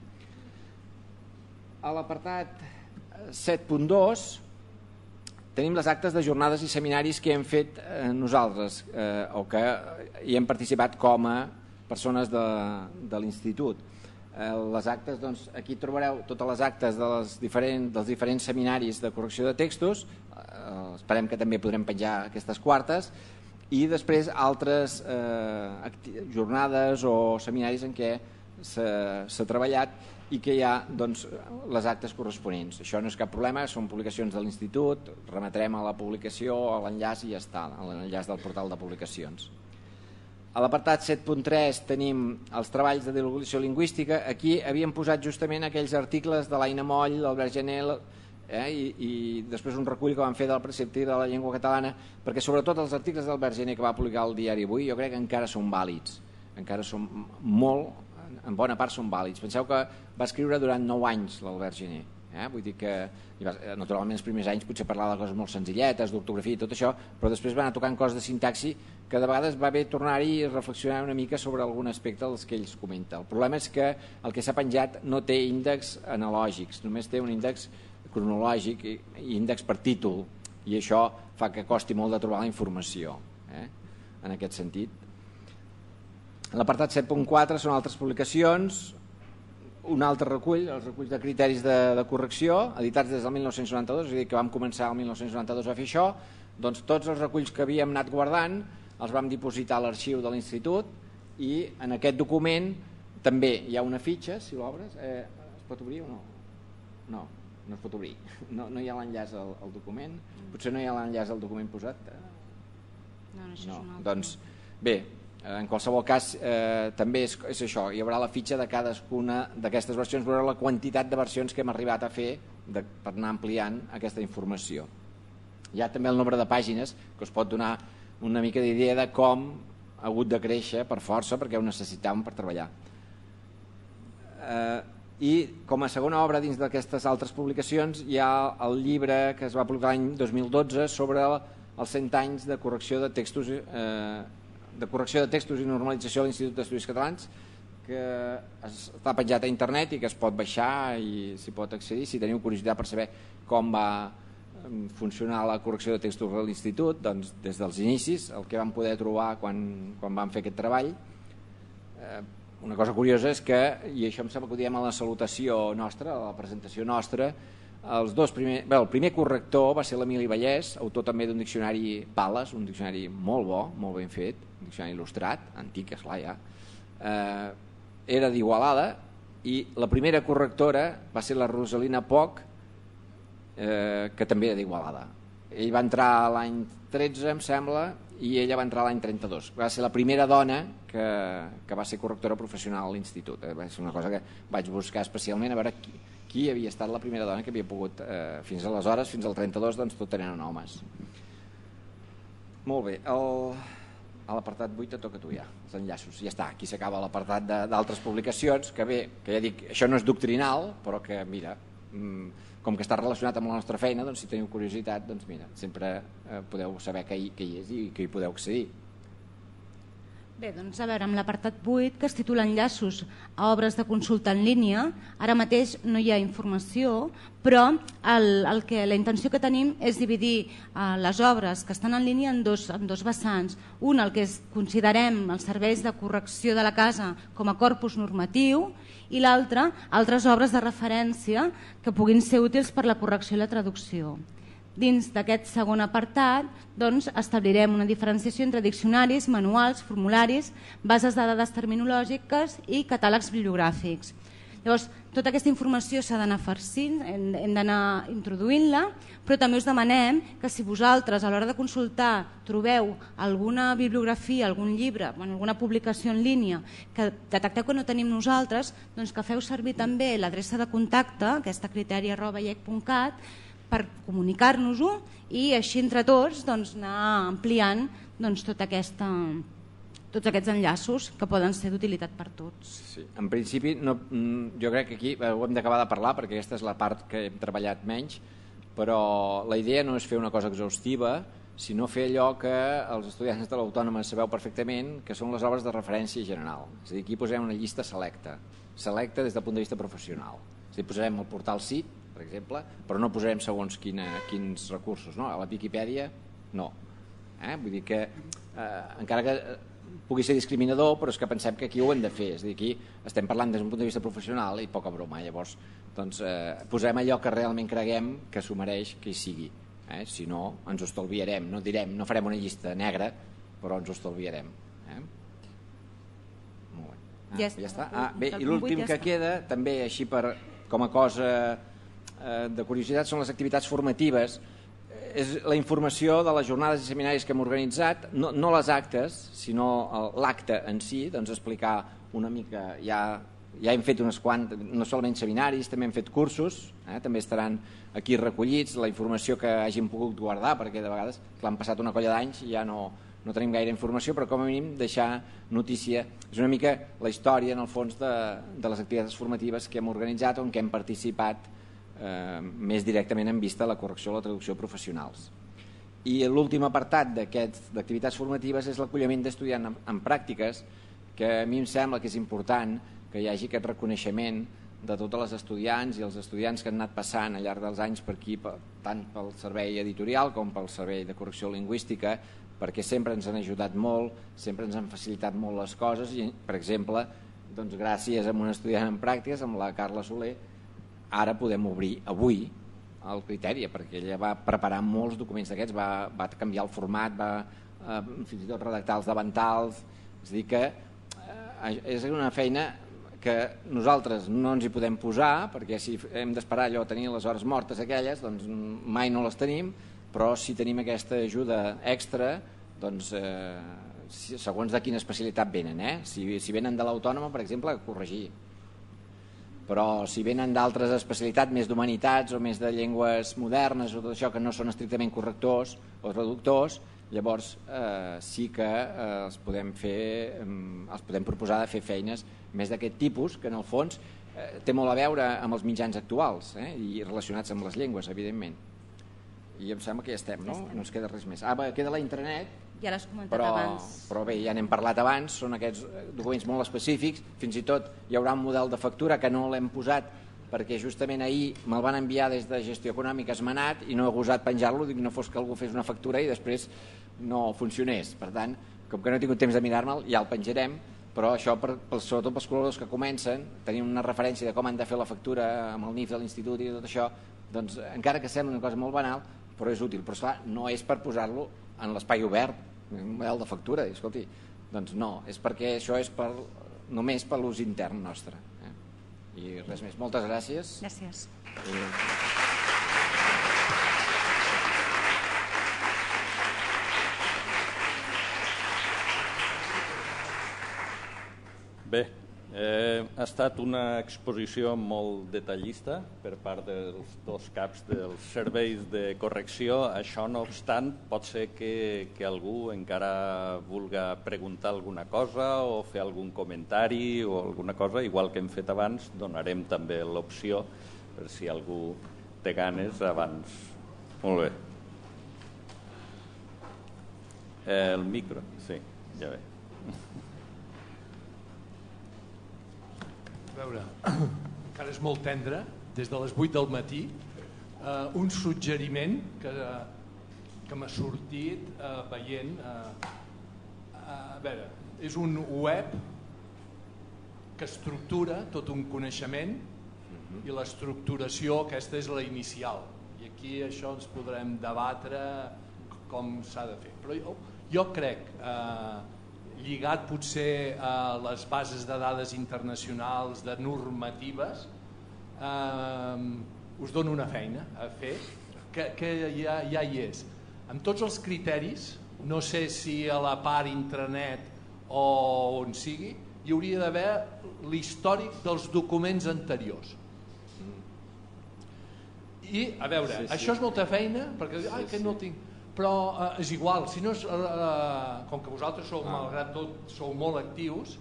A l'apartat set punt dos tenim les actes de jornades i seminaris que hem fet eh, nosaltres eh, o que hi hem participat com a persones de, de l'institut. Eh, les actes, doncs, aquí trobareu totes les actes de les diferent, dels diferents seminaris de correcció de textos, eh, esperem que també podrem penjar aquestes quartes, i després altres eh, jornades o seminaris en què s'ha treballat i que hi ha doncs, les actes corresponents. Això no és cap problema, són publicacions de l'institut, remetrem a la publicació, a l'enllaç i ja està, a l'enllaç del portal de publicacions. A l'apartat set punt tres tenim els treballs de divulgació lingüística. Aquí havíem posat justament aquells articles de l'Aina Moll, l'Albert Gené, eh, i, i després un recull que van fer del precepte de la llengua catalana, perquè sobretot els articles d'Albert Gené que va publicar el diari Avui jo crec que encara són vàlids, encara són molt, en bona part són vàlids. Penseu que va escriure durant nou anys l'Albert Gené. Eh? Vull dir que, naturalment, els primers anys potser parlava de coses molt senzilletes, d'ortografia i tot això, però després va anar tocant coses de sintaxi que de vegades va bé tornar-hi i reflexionar una mica sobre algun aspecte dels que ells comenta. El problema és que el que s'ha penjat no té índexs analògics, només té un índex cronològic i índex per títol, i això fa que costi molt de trobar la informació, eh? En aquest sentit. L'apartat set punt quatre són altres publicacions, un altre recull, els reculls de criteris de, de correcció, editats des del mil nou-cents noranta-dos, és a dir, que vam començar el mil nou-cents noranta-dos a fer això, doncs tots els reculls que havíem anat guardant els vam dipositar a l'arxiu de l'institut i en aquest document també hi ha una fitxa, si l'obres, eh, es pot obrir o no? No, no es pot obrir, no, no hi ha l'enllaç al, al document, potser no hi ha l'enllaç al document posat? No, no, això no. és un altre. Doncs bé, en qualsevol cas eh, també és, és això, hi haurà la fitxa de cadascuna d'aquestes versions, veurà la quantitat de versions que hem arribat a fer de, per anar ampliant aquesta informació. Hi ha també el nombre de pàgines que us pot donar una mica d'idea de com ha hagut de créixer per força perquè ho necessitàvem per treballar. Eh, I com a segona obra dins d'aquestes altres publicacions hi ha el llibre que es va publicar l'any dos mil dotze sobre els cent anys de correcció de textos eh, de correcció de textos i normalització a l'Institut d'Estudis Catalans, que està penjat a internet i que es pot baixar i s'hi pot accedir si teniu curiositat per saber com va funcionar la correcció de textos a l'Institut, doncs des dels inicis, el que vam poder trobar quan, quan vam fer aquest treball. Eh, una cosa curiosa és que, i això em sembla que ho diem a la salutació nostra, a la presentació nostra, els dos primer, bé, el primer corrector va ser l'Emili Vallès, autor també d'un diccionari Pales, un diccionari molt bo, molt ben fet, un diccionari il·lustrat, antic, esclar ja, eh, era d'Igualada, i la primera correctora va ser la Rosalina Poch, eh, que també era d'Igualada. Ell va entrar l'any tretze, em sembla, i ella va entrar l'any trenta-dos. Va ser la primera dona que, que va ser correctora professional a l'institut. Eh, va ser una cosa que vaig buscar especialment a veure qui, qui havia estat la primera dona que havia pogut, eh, fins aleshores, fins al trenta-dos, doncs tot eren homes. Molt bé, el, a l'apartat vuit et toca a tu ja, els enllaços, ja està, aquí s'acaba l'apartat d'altres publicacions, que bé, que ja dic, això no és doctrinal, però que mira, com que està relacionat amb la nostra feina, doncs si teniu curiositat, doncs mira, sempre eh, podeu saber què hi, què hi és i que hi podeu accedir. Bé, doncs a veure, amb l'apartat vuit, que es titula Enllaços a obres de consulta en línia, ara mateix no hi ha informació, però el, el que, la intenció que tenim és dividir eh, les obres que estan en línia en dos, en dos vessants. Un, el que és, considerem els serveis de correcció de la casa com a corpus normatiu, i l'altre, altres obres de referència que puguin ser útils per la correcció i la traducció. Dins d'aquest segon apartat doncs, establirem una diferenciació entre diccionaris, manuals, formularis, bases de dades terminològiques i catàlegs bibliogràfics. Llavors, tota aquesta informació s'ha d'anar farcint, hem, hem d'anar introduint-la, però també us demanem que si vosaltres a l'hora de consultar trobeu alguna bibliografia, algun llibre, bueno, alguna publicació en línia que detecteu que no tenim nosaltres, doncs que feu servir també l'adreça de contacte, aquesta criteri arroba iec punt cat, per comunicar-nos-ho i així entre tots doncs, anar ampliant doncs, tota aquesta, tots aquests enllaços que poden ser d'utilitat per tots. Sí. En principi, no, jo crec que aquí ho hem d'acabar de parlar perquè aquesta és la part que hem treballat menys, però la idea no és fer una cosa exhaustiva, sinó fer allò que els estudiants de l'Autònoma sabeu perfectament, que són les obres de referència general. És a dir, aquí posem una llista selecta, selecta des del punt de vista professional. És a dir, posarem el portal C I T, per exemple, però no posarem segons quina, quins recursos. No? A la Viquipèdia, no. Eh? Vull dir que, eh, encara que pugui ser discriminador, però és que pensem que aquí ho hem de fer. És a dir, aquí estem parlant des d'un punt de vista professional i poca broma. Llavors, doncs, eh, posem allò que realment creguem que s'ho mereix que hi sigui. Eh? Si no, ens ho estalviarem. No direm, no farem una llista negra, però ens ho estalviarem. Eh? Molt bé. Ah, ja, ja està. Ah, bé, i l'últim que queda, també així per, com a cosa de curiositat, són les activitats formatives. És la informació de les jornades i seminaris que hem organitzat, no, no les actes, sinó l'acte en si, doncs explicar una mica, ja, ja hem fet unes quantes, no solament seminaris, també hem fet cursos, eh, també estaran aquí recollits, la informació que hagin pogut guardar, perquè de vegades clar, han passat una colla d'anys i ja no, no tenim gaire informació, però com a mínim deixar notícia. És una mica la història, en el fons, de, de les activitats formatives que hem organitzat o en què hem participat Eh, més directament en vista la correcció o la traducció professionals. I l'últim apartat d'activitats formatives és l'acolliment d'estudiants en, en pràctiques, que a mi em sembla que és important que hi hagi aquest reconeixement de totes les estudiants i els estudiants que han anat passant al llarg dels anys per aquí, tant pel servei editorial com pel servei de correcció lingüística, perquè sempre ens han ajudat molt, sempre ens han facilitat molt les coses i, per exemple, doncs, gràcies a un estudiant en pràctiques, amb la Carla Soler, ara podem obrir avui el criteri, perquè ella va preparar molts documents d'aquests, va, va canviar el format, va eh, fins i tot redactar els davantals, és a dir que eh, és una feina que nosaltres no ens hi podem posar, perquè si hem d'esperar allò tenir les hores mortes aquelles, doncs mai no les tenim, però si tenim aquesta ajuda extra, doncs eh, segons de quina especialitat venen, eh? si, si venen de l'Autònoma, per exemple, a corregir. Però si venen d'altres especialitats, més d'humanitats o més de llengües modernes o tot això que no són estrictament correctors o traductors, llavors eh, sí que eh, els podem fer, eh, els podem proposar de fer feines més d'aquest tipus, que en el fons eh, té molt a veure amb els mitjans actuals eh, i relacionats amb les llengües, evidentment. I em sembla que ja estem, no? Ja estem. No ens queda res més. Ah, queda la intranet. Ja l'has comentat però, abans. Però bé, ja n'hem parlat abans, són aquests documents molt específics, fins i tot hi haurà un model de factura que no l'hem posat perquè justament ahir me'l van enviar des de Gestió Econòmica esmenat i no he gosat penjar-lo, dic no fos que algú fes una factura i després no funcionés. Per tant, com que no he tingut temps de mirar-me'l, ja el penjarem, però això, per, per, sobretot pels col·laboradors que comencen, tenim una referència de com han de fer la factura amb el N I F de l'institut i tot això, doncs encara que sembla una cosa molt banal, però és útil. Però esclar, no és per posar-lo en l'espai obert, un model de factura, i, escolti, doncs no, és perquè això és per, només per l'ús intern nostre. Eh? I res més. Moltes gràcies. Gràcies. I... Bé, eh, ha estat una exposició molt detallista per part dels dos caps dels serveis de correcció. Això no obstant, pot ser que, que algú encara vulga preguntar alguna cosa o fer algun comentari o alguna cosa, igual que hem fet abans, donarem també l'opció per si algú té ganes abans. Molt bé. Eh, el micro, sí, ja ve. A veure, encara és molt tendre, des de les vuit del matí, eh, un suggeriment que, que m'ha sortit eh, veient... Eh, a veure, és un web que estructura tot un coneixement i l'estructuració aquesta és la inicial. I aquí això ens podrem debatre com s'ha de fer. Però jo, jo crec, eh, lligat potser a les bases de dades internacionals, de normatives, eh, us dono una feina a fer, que, que ja, ja hi és. Amb tots els criteris, no sé si a la part intranet o on sigui, hi hauria d'haver l'històric dels documents anteriors. I, a veure, sí, sí. això és molta feina, perquè ai, que no tinc... Però eh, és igual, si no és, eh, com que vosaltres sou, ah. malgrat tot, sou molt actius,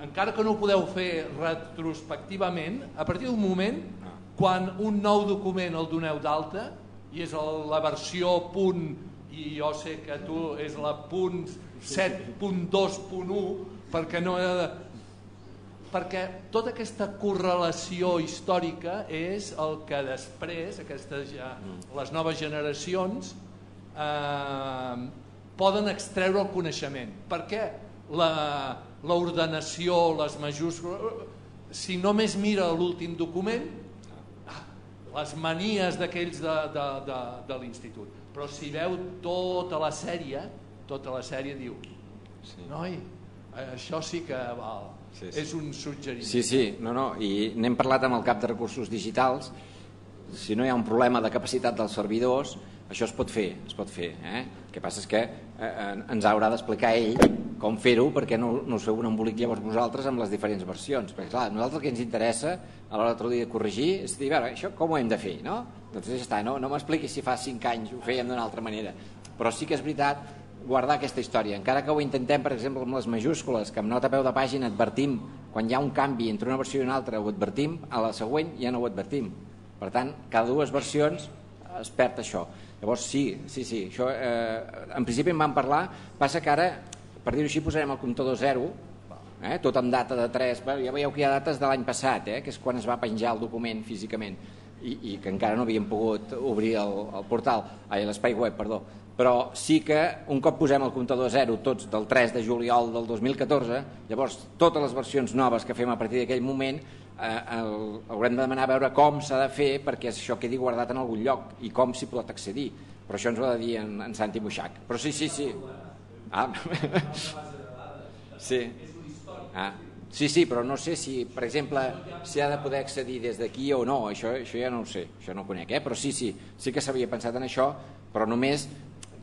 encara que no ho podeu fer retrospectivament, a partir d'un moment, ah. quan un nou document el doneu d'alta, i és el, la versió punt, i jo sé que tu és la punt set punt dos punt u, perquè no he de... perquè tota aquesta correlació històrica és el que després aquestes ja, les noves generacions eh, poden extreure el coneixement, perquè l'ordenació, les majúscules, si només mira l'últim document, les manies d'aquells de, de, de, de l'institut, però si veu tota la sèrie, tota la sèrie diu, sí. Noi, això sí que val. Sí, sí. És un suggeriment. Sí, sí, no, no, i n'hem parlat amb el cap de recursos digitals. Si no hi ha un problema de capacitat dels servidors, això es pot fer, es pot fer. Eh? El que passa és que eh, ens haurà d'explicar ell com fer-ho, perquè no, no us feu un embolic llavors vosaltres amb les diferents versions. Perquè clar, a nosaltres el que ens interessa a l'hora de corregir és dir, veure, això com ho hem de fer, no? Doncs ja està, no, no m'expliquis si fa cinc anys ho fèiem d'una altra manera. Però sí que és veritat guardar aquesta història, encara que ho intentem per exemple amb les majúscules, que amb nota a peu de pàgina advertim quan hi ha un canvi entre una versió i una altra, ho advertim, a la següent ja no ho advertim, per tant cada dues versions es perd això. Llavors sí, sí, sí això, eh, en principi en vam parlar, passa que ara per dir-ho així posarem el comptador zero, eh, tot amb data de tres, ja veieu que hi ha dates de l'any passat, eh, que és quan es va penjar el document físicament i, i que encara no havíem pogut obrir el, el portal, ai, l'espai web, perdó. Però sí que un cop posem el comptador zero tots del tres de juliol del dos mil catorze, llavors totes les versions noves que fem a partir d'aquell moment eh, el, haurem de demanar a veure com s'ha de fer perquè això quedi guardat en algun lloc i com s'hi pot accedir, però això ens ho ha de dir en, en Santi Buixac. Però sí, sí, sí. Ah. Sí. Ah. Sí, sí, però no sé si, per exemple, s'hi ha de poder accedir des d'aquí o no, això, això ja no ho sé, això no ho conec, eh? Però sí, sí, sí que s'havia pensat en això, però només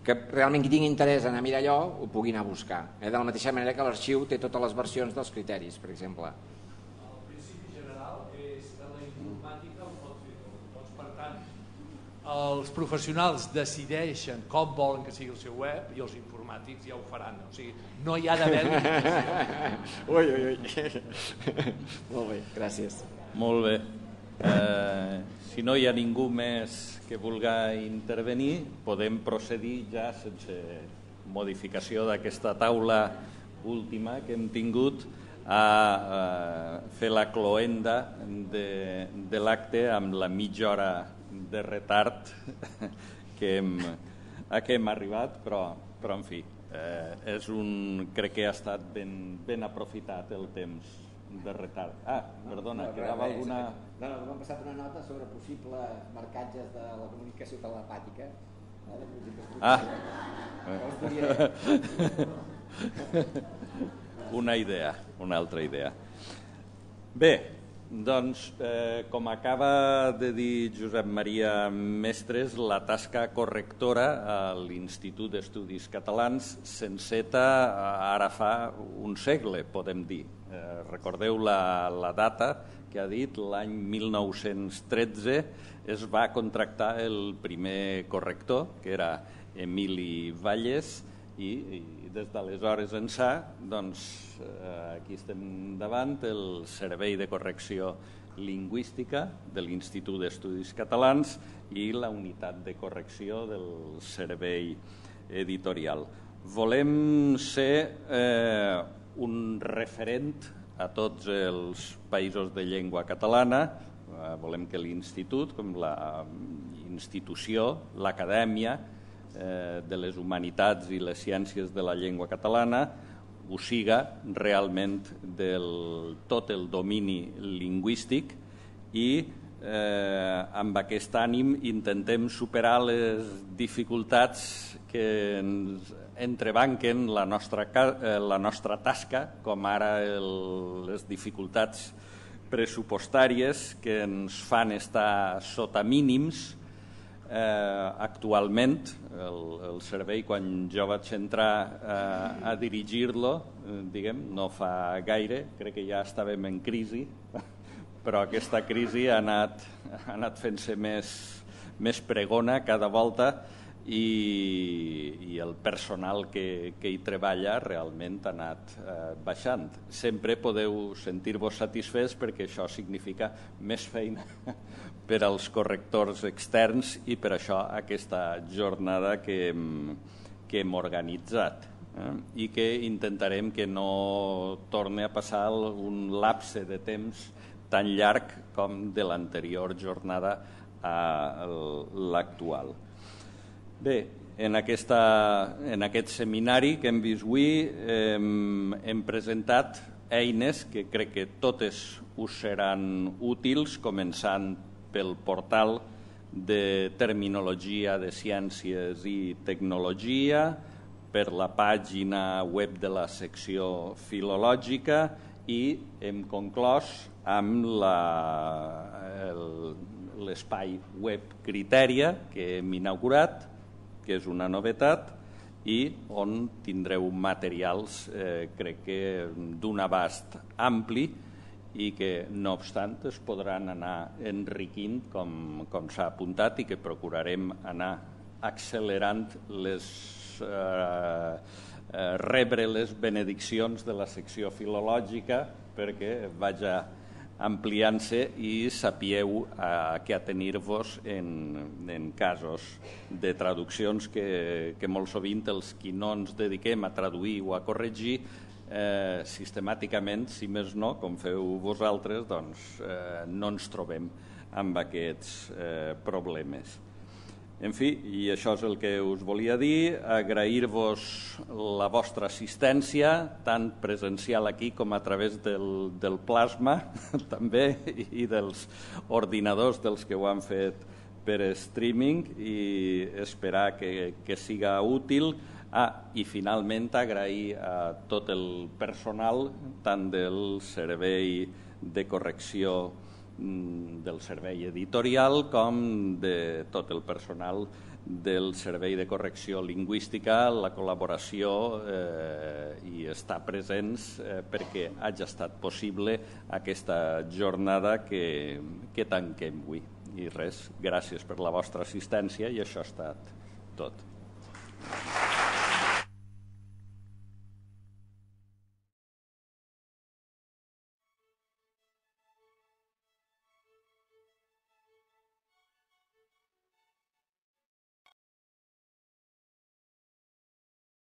que realment qui tingui interès en anar a mirar allò ho pugui anar a buscar, eh? De la mateixa manera que l'arxiu té totes les versions dels criteris, per exemple. El principi general és que la informàtica ho pot fer tot, doncs per tant els professionals decideixen com volen que sigui el seu web i els informàtics ja ho faran, o sigui, no hi ha d'haver ui, ui, ui. Molt bé, gràcies. Molt bé. Eh, si no hi ha ningú més que vulga intervenir, podem procedir ja sense modificació d'aquesta taula última que hem tingut a, a fer la cloenda de, de l'acte amb la mitja hora de retard que hem, a què hem arribat, però, però en fi, eh, és un, crec que ha estat ben, ben aprofitat el temps de retard. Ah, perdona, no, quedava res, alguna... No, no, m'han passat una nota sobre possibles marcatges de la comunicació telepàtica. Ah. Una idea, una altra idea. Bé, doncs, eh, com acaba de dir Josep Maria Mestres, la tasca correctora a l'Institut d'Estudis Catalans s'enceta ara fa un segle, podem dir. Eh, recordeu la, la data que ha dit, l'any mil nou-cents tretze es va contractar el primer corrector, que era Emili Valles, i, i des d'aleshores ençà, doncs, eh, aquí estem davant el Servei de Correcció Lingüística de l'Institut d'Estudis Catalans i la unitat de correcció del Servei Editorial. Volem ser eh, un referent a tots els països de llengua catalana. Volem que l'Institut, com la institució, l'acadèmia de les humanitats i les ciències de la llengua catalana, ho siga realment del tot el domini lingüístic i amb aquest ànim intentem superar les dificultats que ens entrebanquen la nostra, la nostra tasca, com ara el, les dificultats pressupostàries que ens fan estar sota mínims. Eh, actualment, el, el servei, quan jo vaig entrar eh, a dirigir-lo, eh, diguem, no fa gaire, crec que ja estàvem en crisi, però aquesta crisi ha anat, ha anat fent-se més, més pregona cada volta i, i el personal que, que hi treballa realment ha anat eh, baixant. Sempre podeu sentir-vos satisfets perquè això significa més feina per als correctors externs i per això aquesta jornada que, que hem organitzat eh? I que intentarem que no torni a passar un lapse de temps tan llarg com de l'anterior jornada a l'actual. Bé, en, aquesta, en aquest seminari que hem vist avui hem, hem presentat eines que crec que totes us seran útils, començant pel portal de terminologia de ciències i tecnologia, per la pàgina web de la secció filològica i hem conclòs amb l'espai web Criteria que hem inaugurat, que és una novetat i on tindreu materials, eh, crec que d'un abast ampli i que, no obstant, es podran anar enriquint, com, com s'ha apuntat, i que procurarem anar accelerant les, eh, eh, rebre les benediccions de la secció filològica perquè vaja ampliant-se i sapieu a què atenir-vos en, en casos de traduccions que, que molt sovint els qui no ens dediquem a traduir o a corregir eh, sistemàticament, si més no, com feu vosaltres, doncs eh, no ens trobem amb aquests eh, problemes. En fi, i això és el que us volia dir, agrair-vos la vostra assistència, tant presencial aquí com a través del, del plasma, també, i dels ordinadors dels que ho han fet per streaming, i esperar que, que siga útil. Ah, i finalment agrair a tot el personal, tant del servei de correcció del servei editorial com de tot el personal del servei de correcció lingüística, la col·laboració eh, i estar presents eh, perquè hagi estat possible aquesta jornada que, que tanquem avui. I res, gràcies per la vostra assistència i això ha estat tot.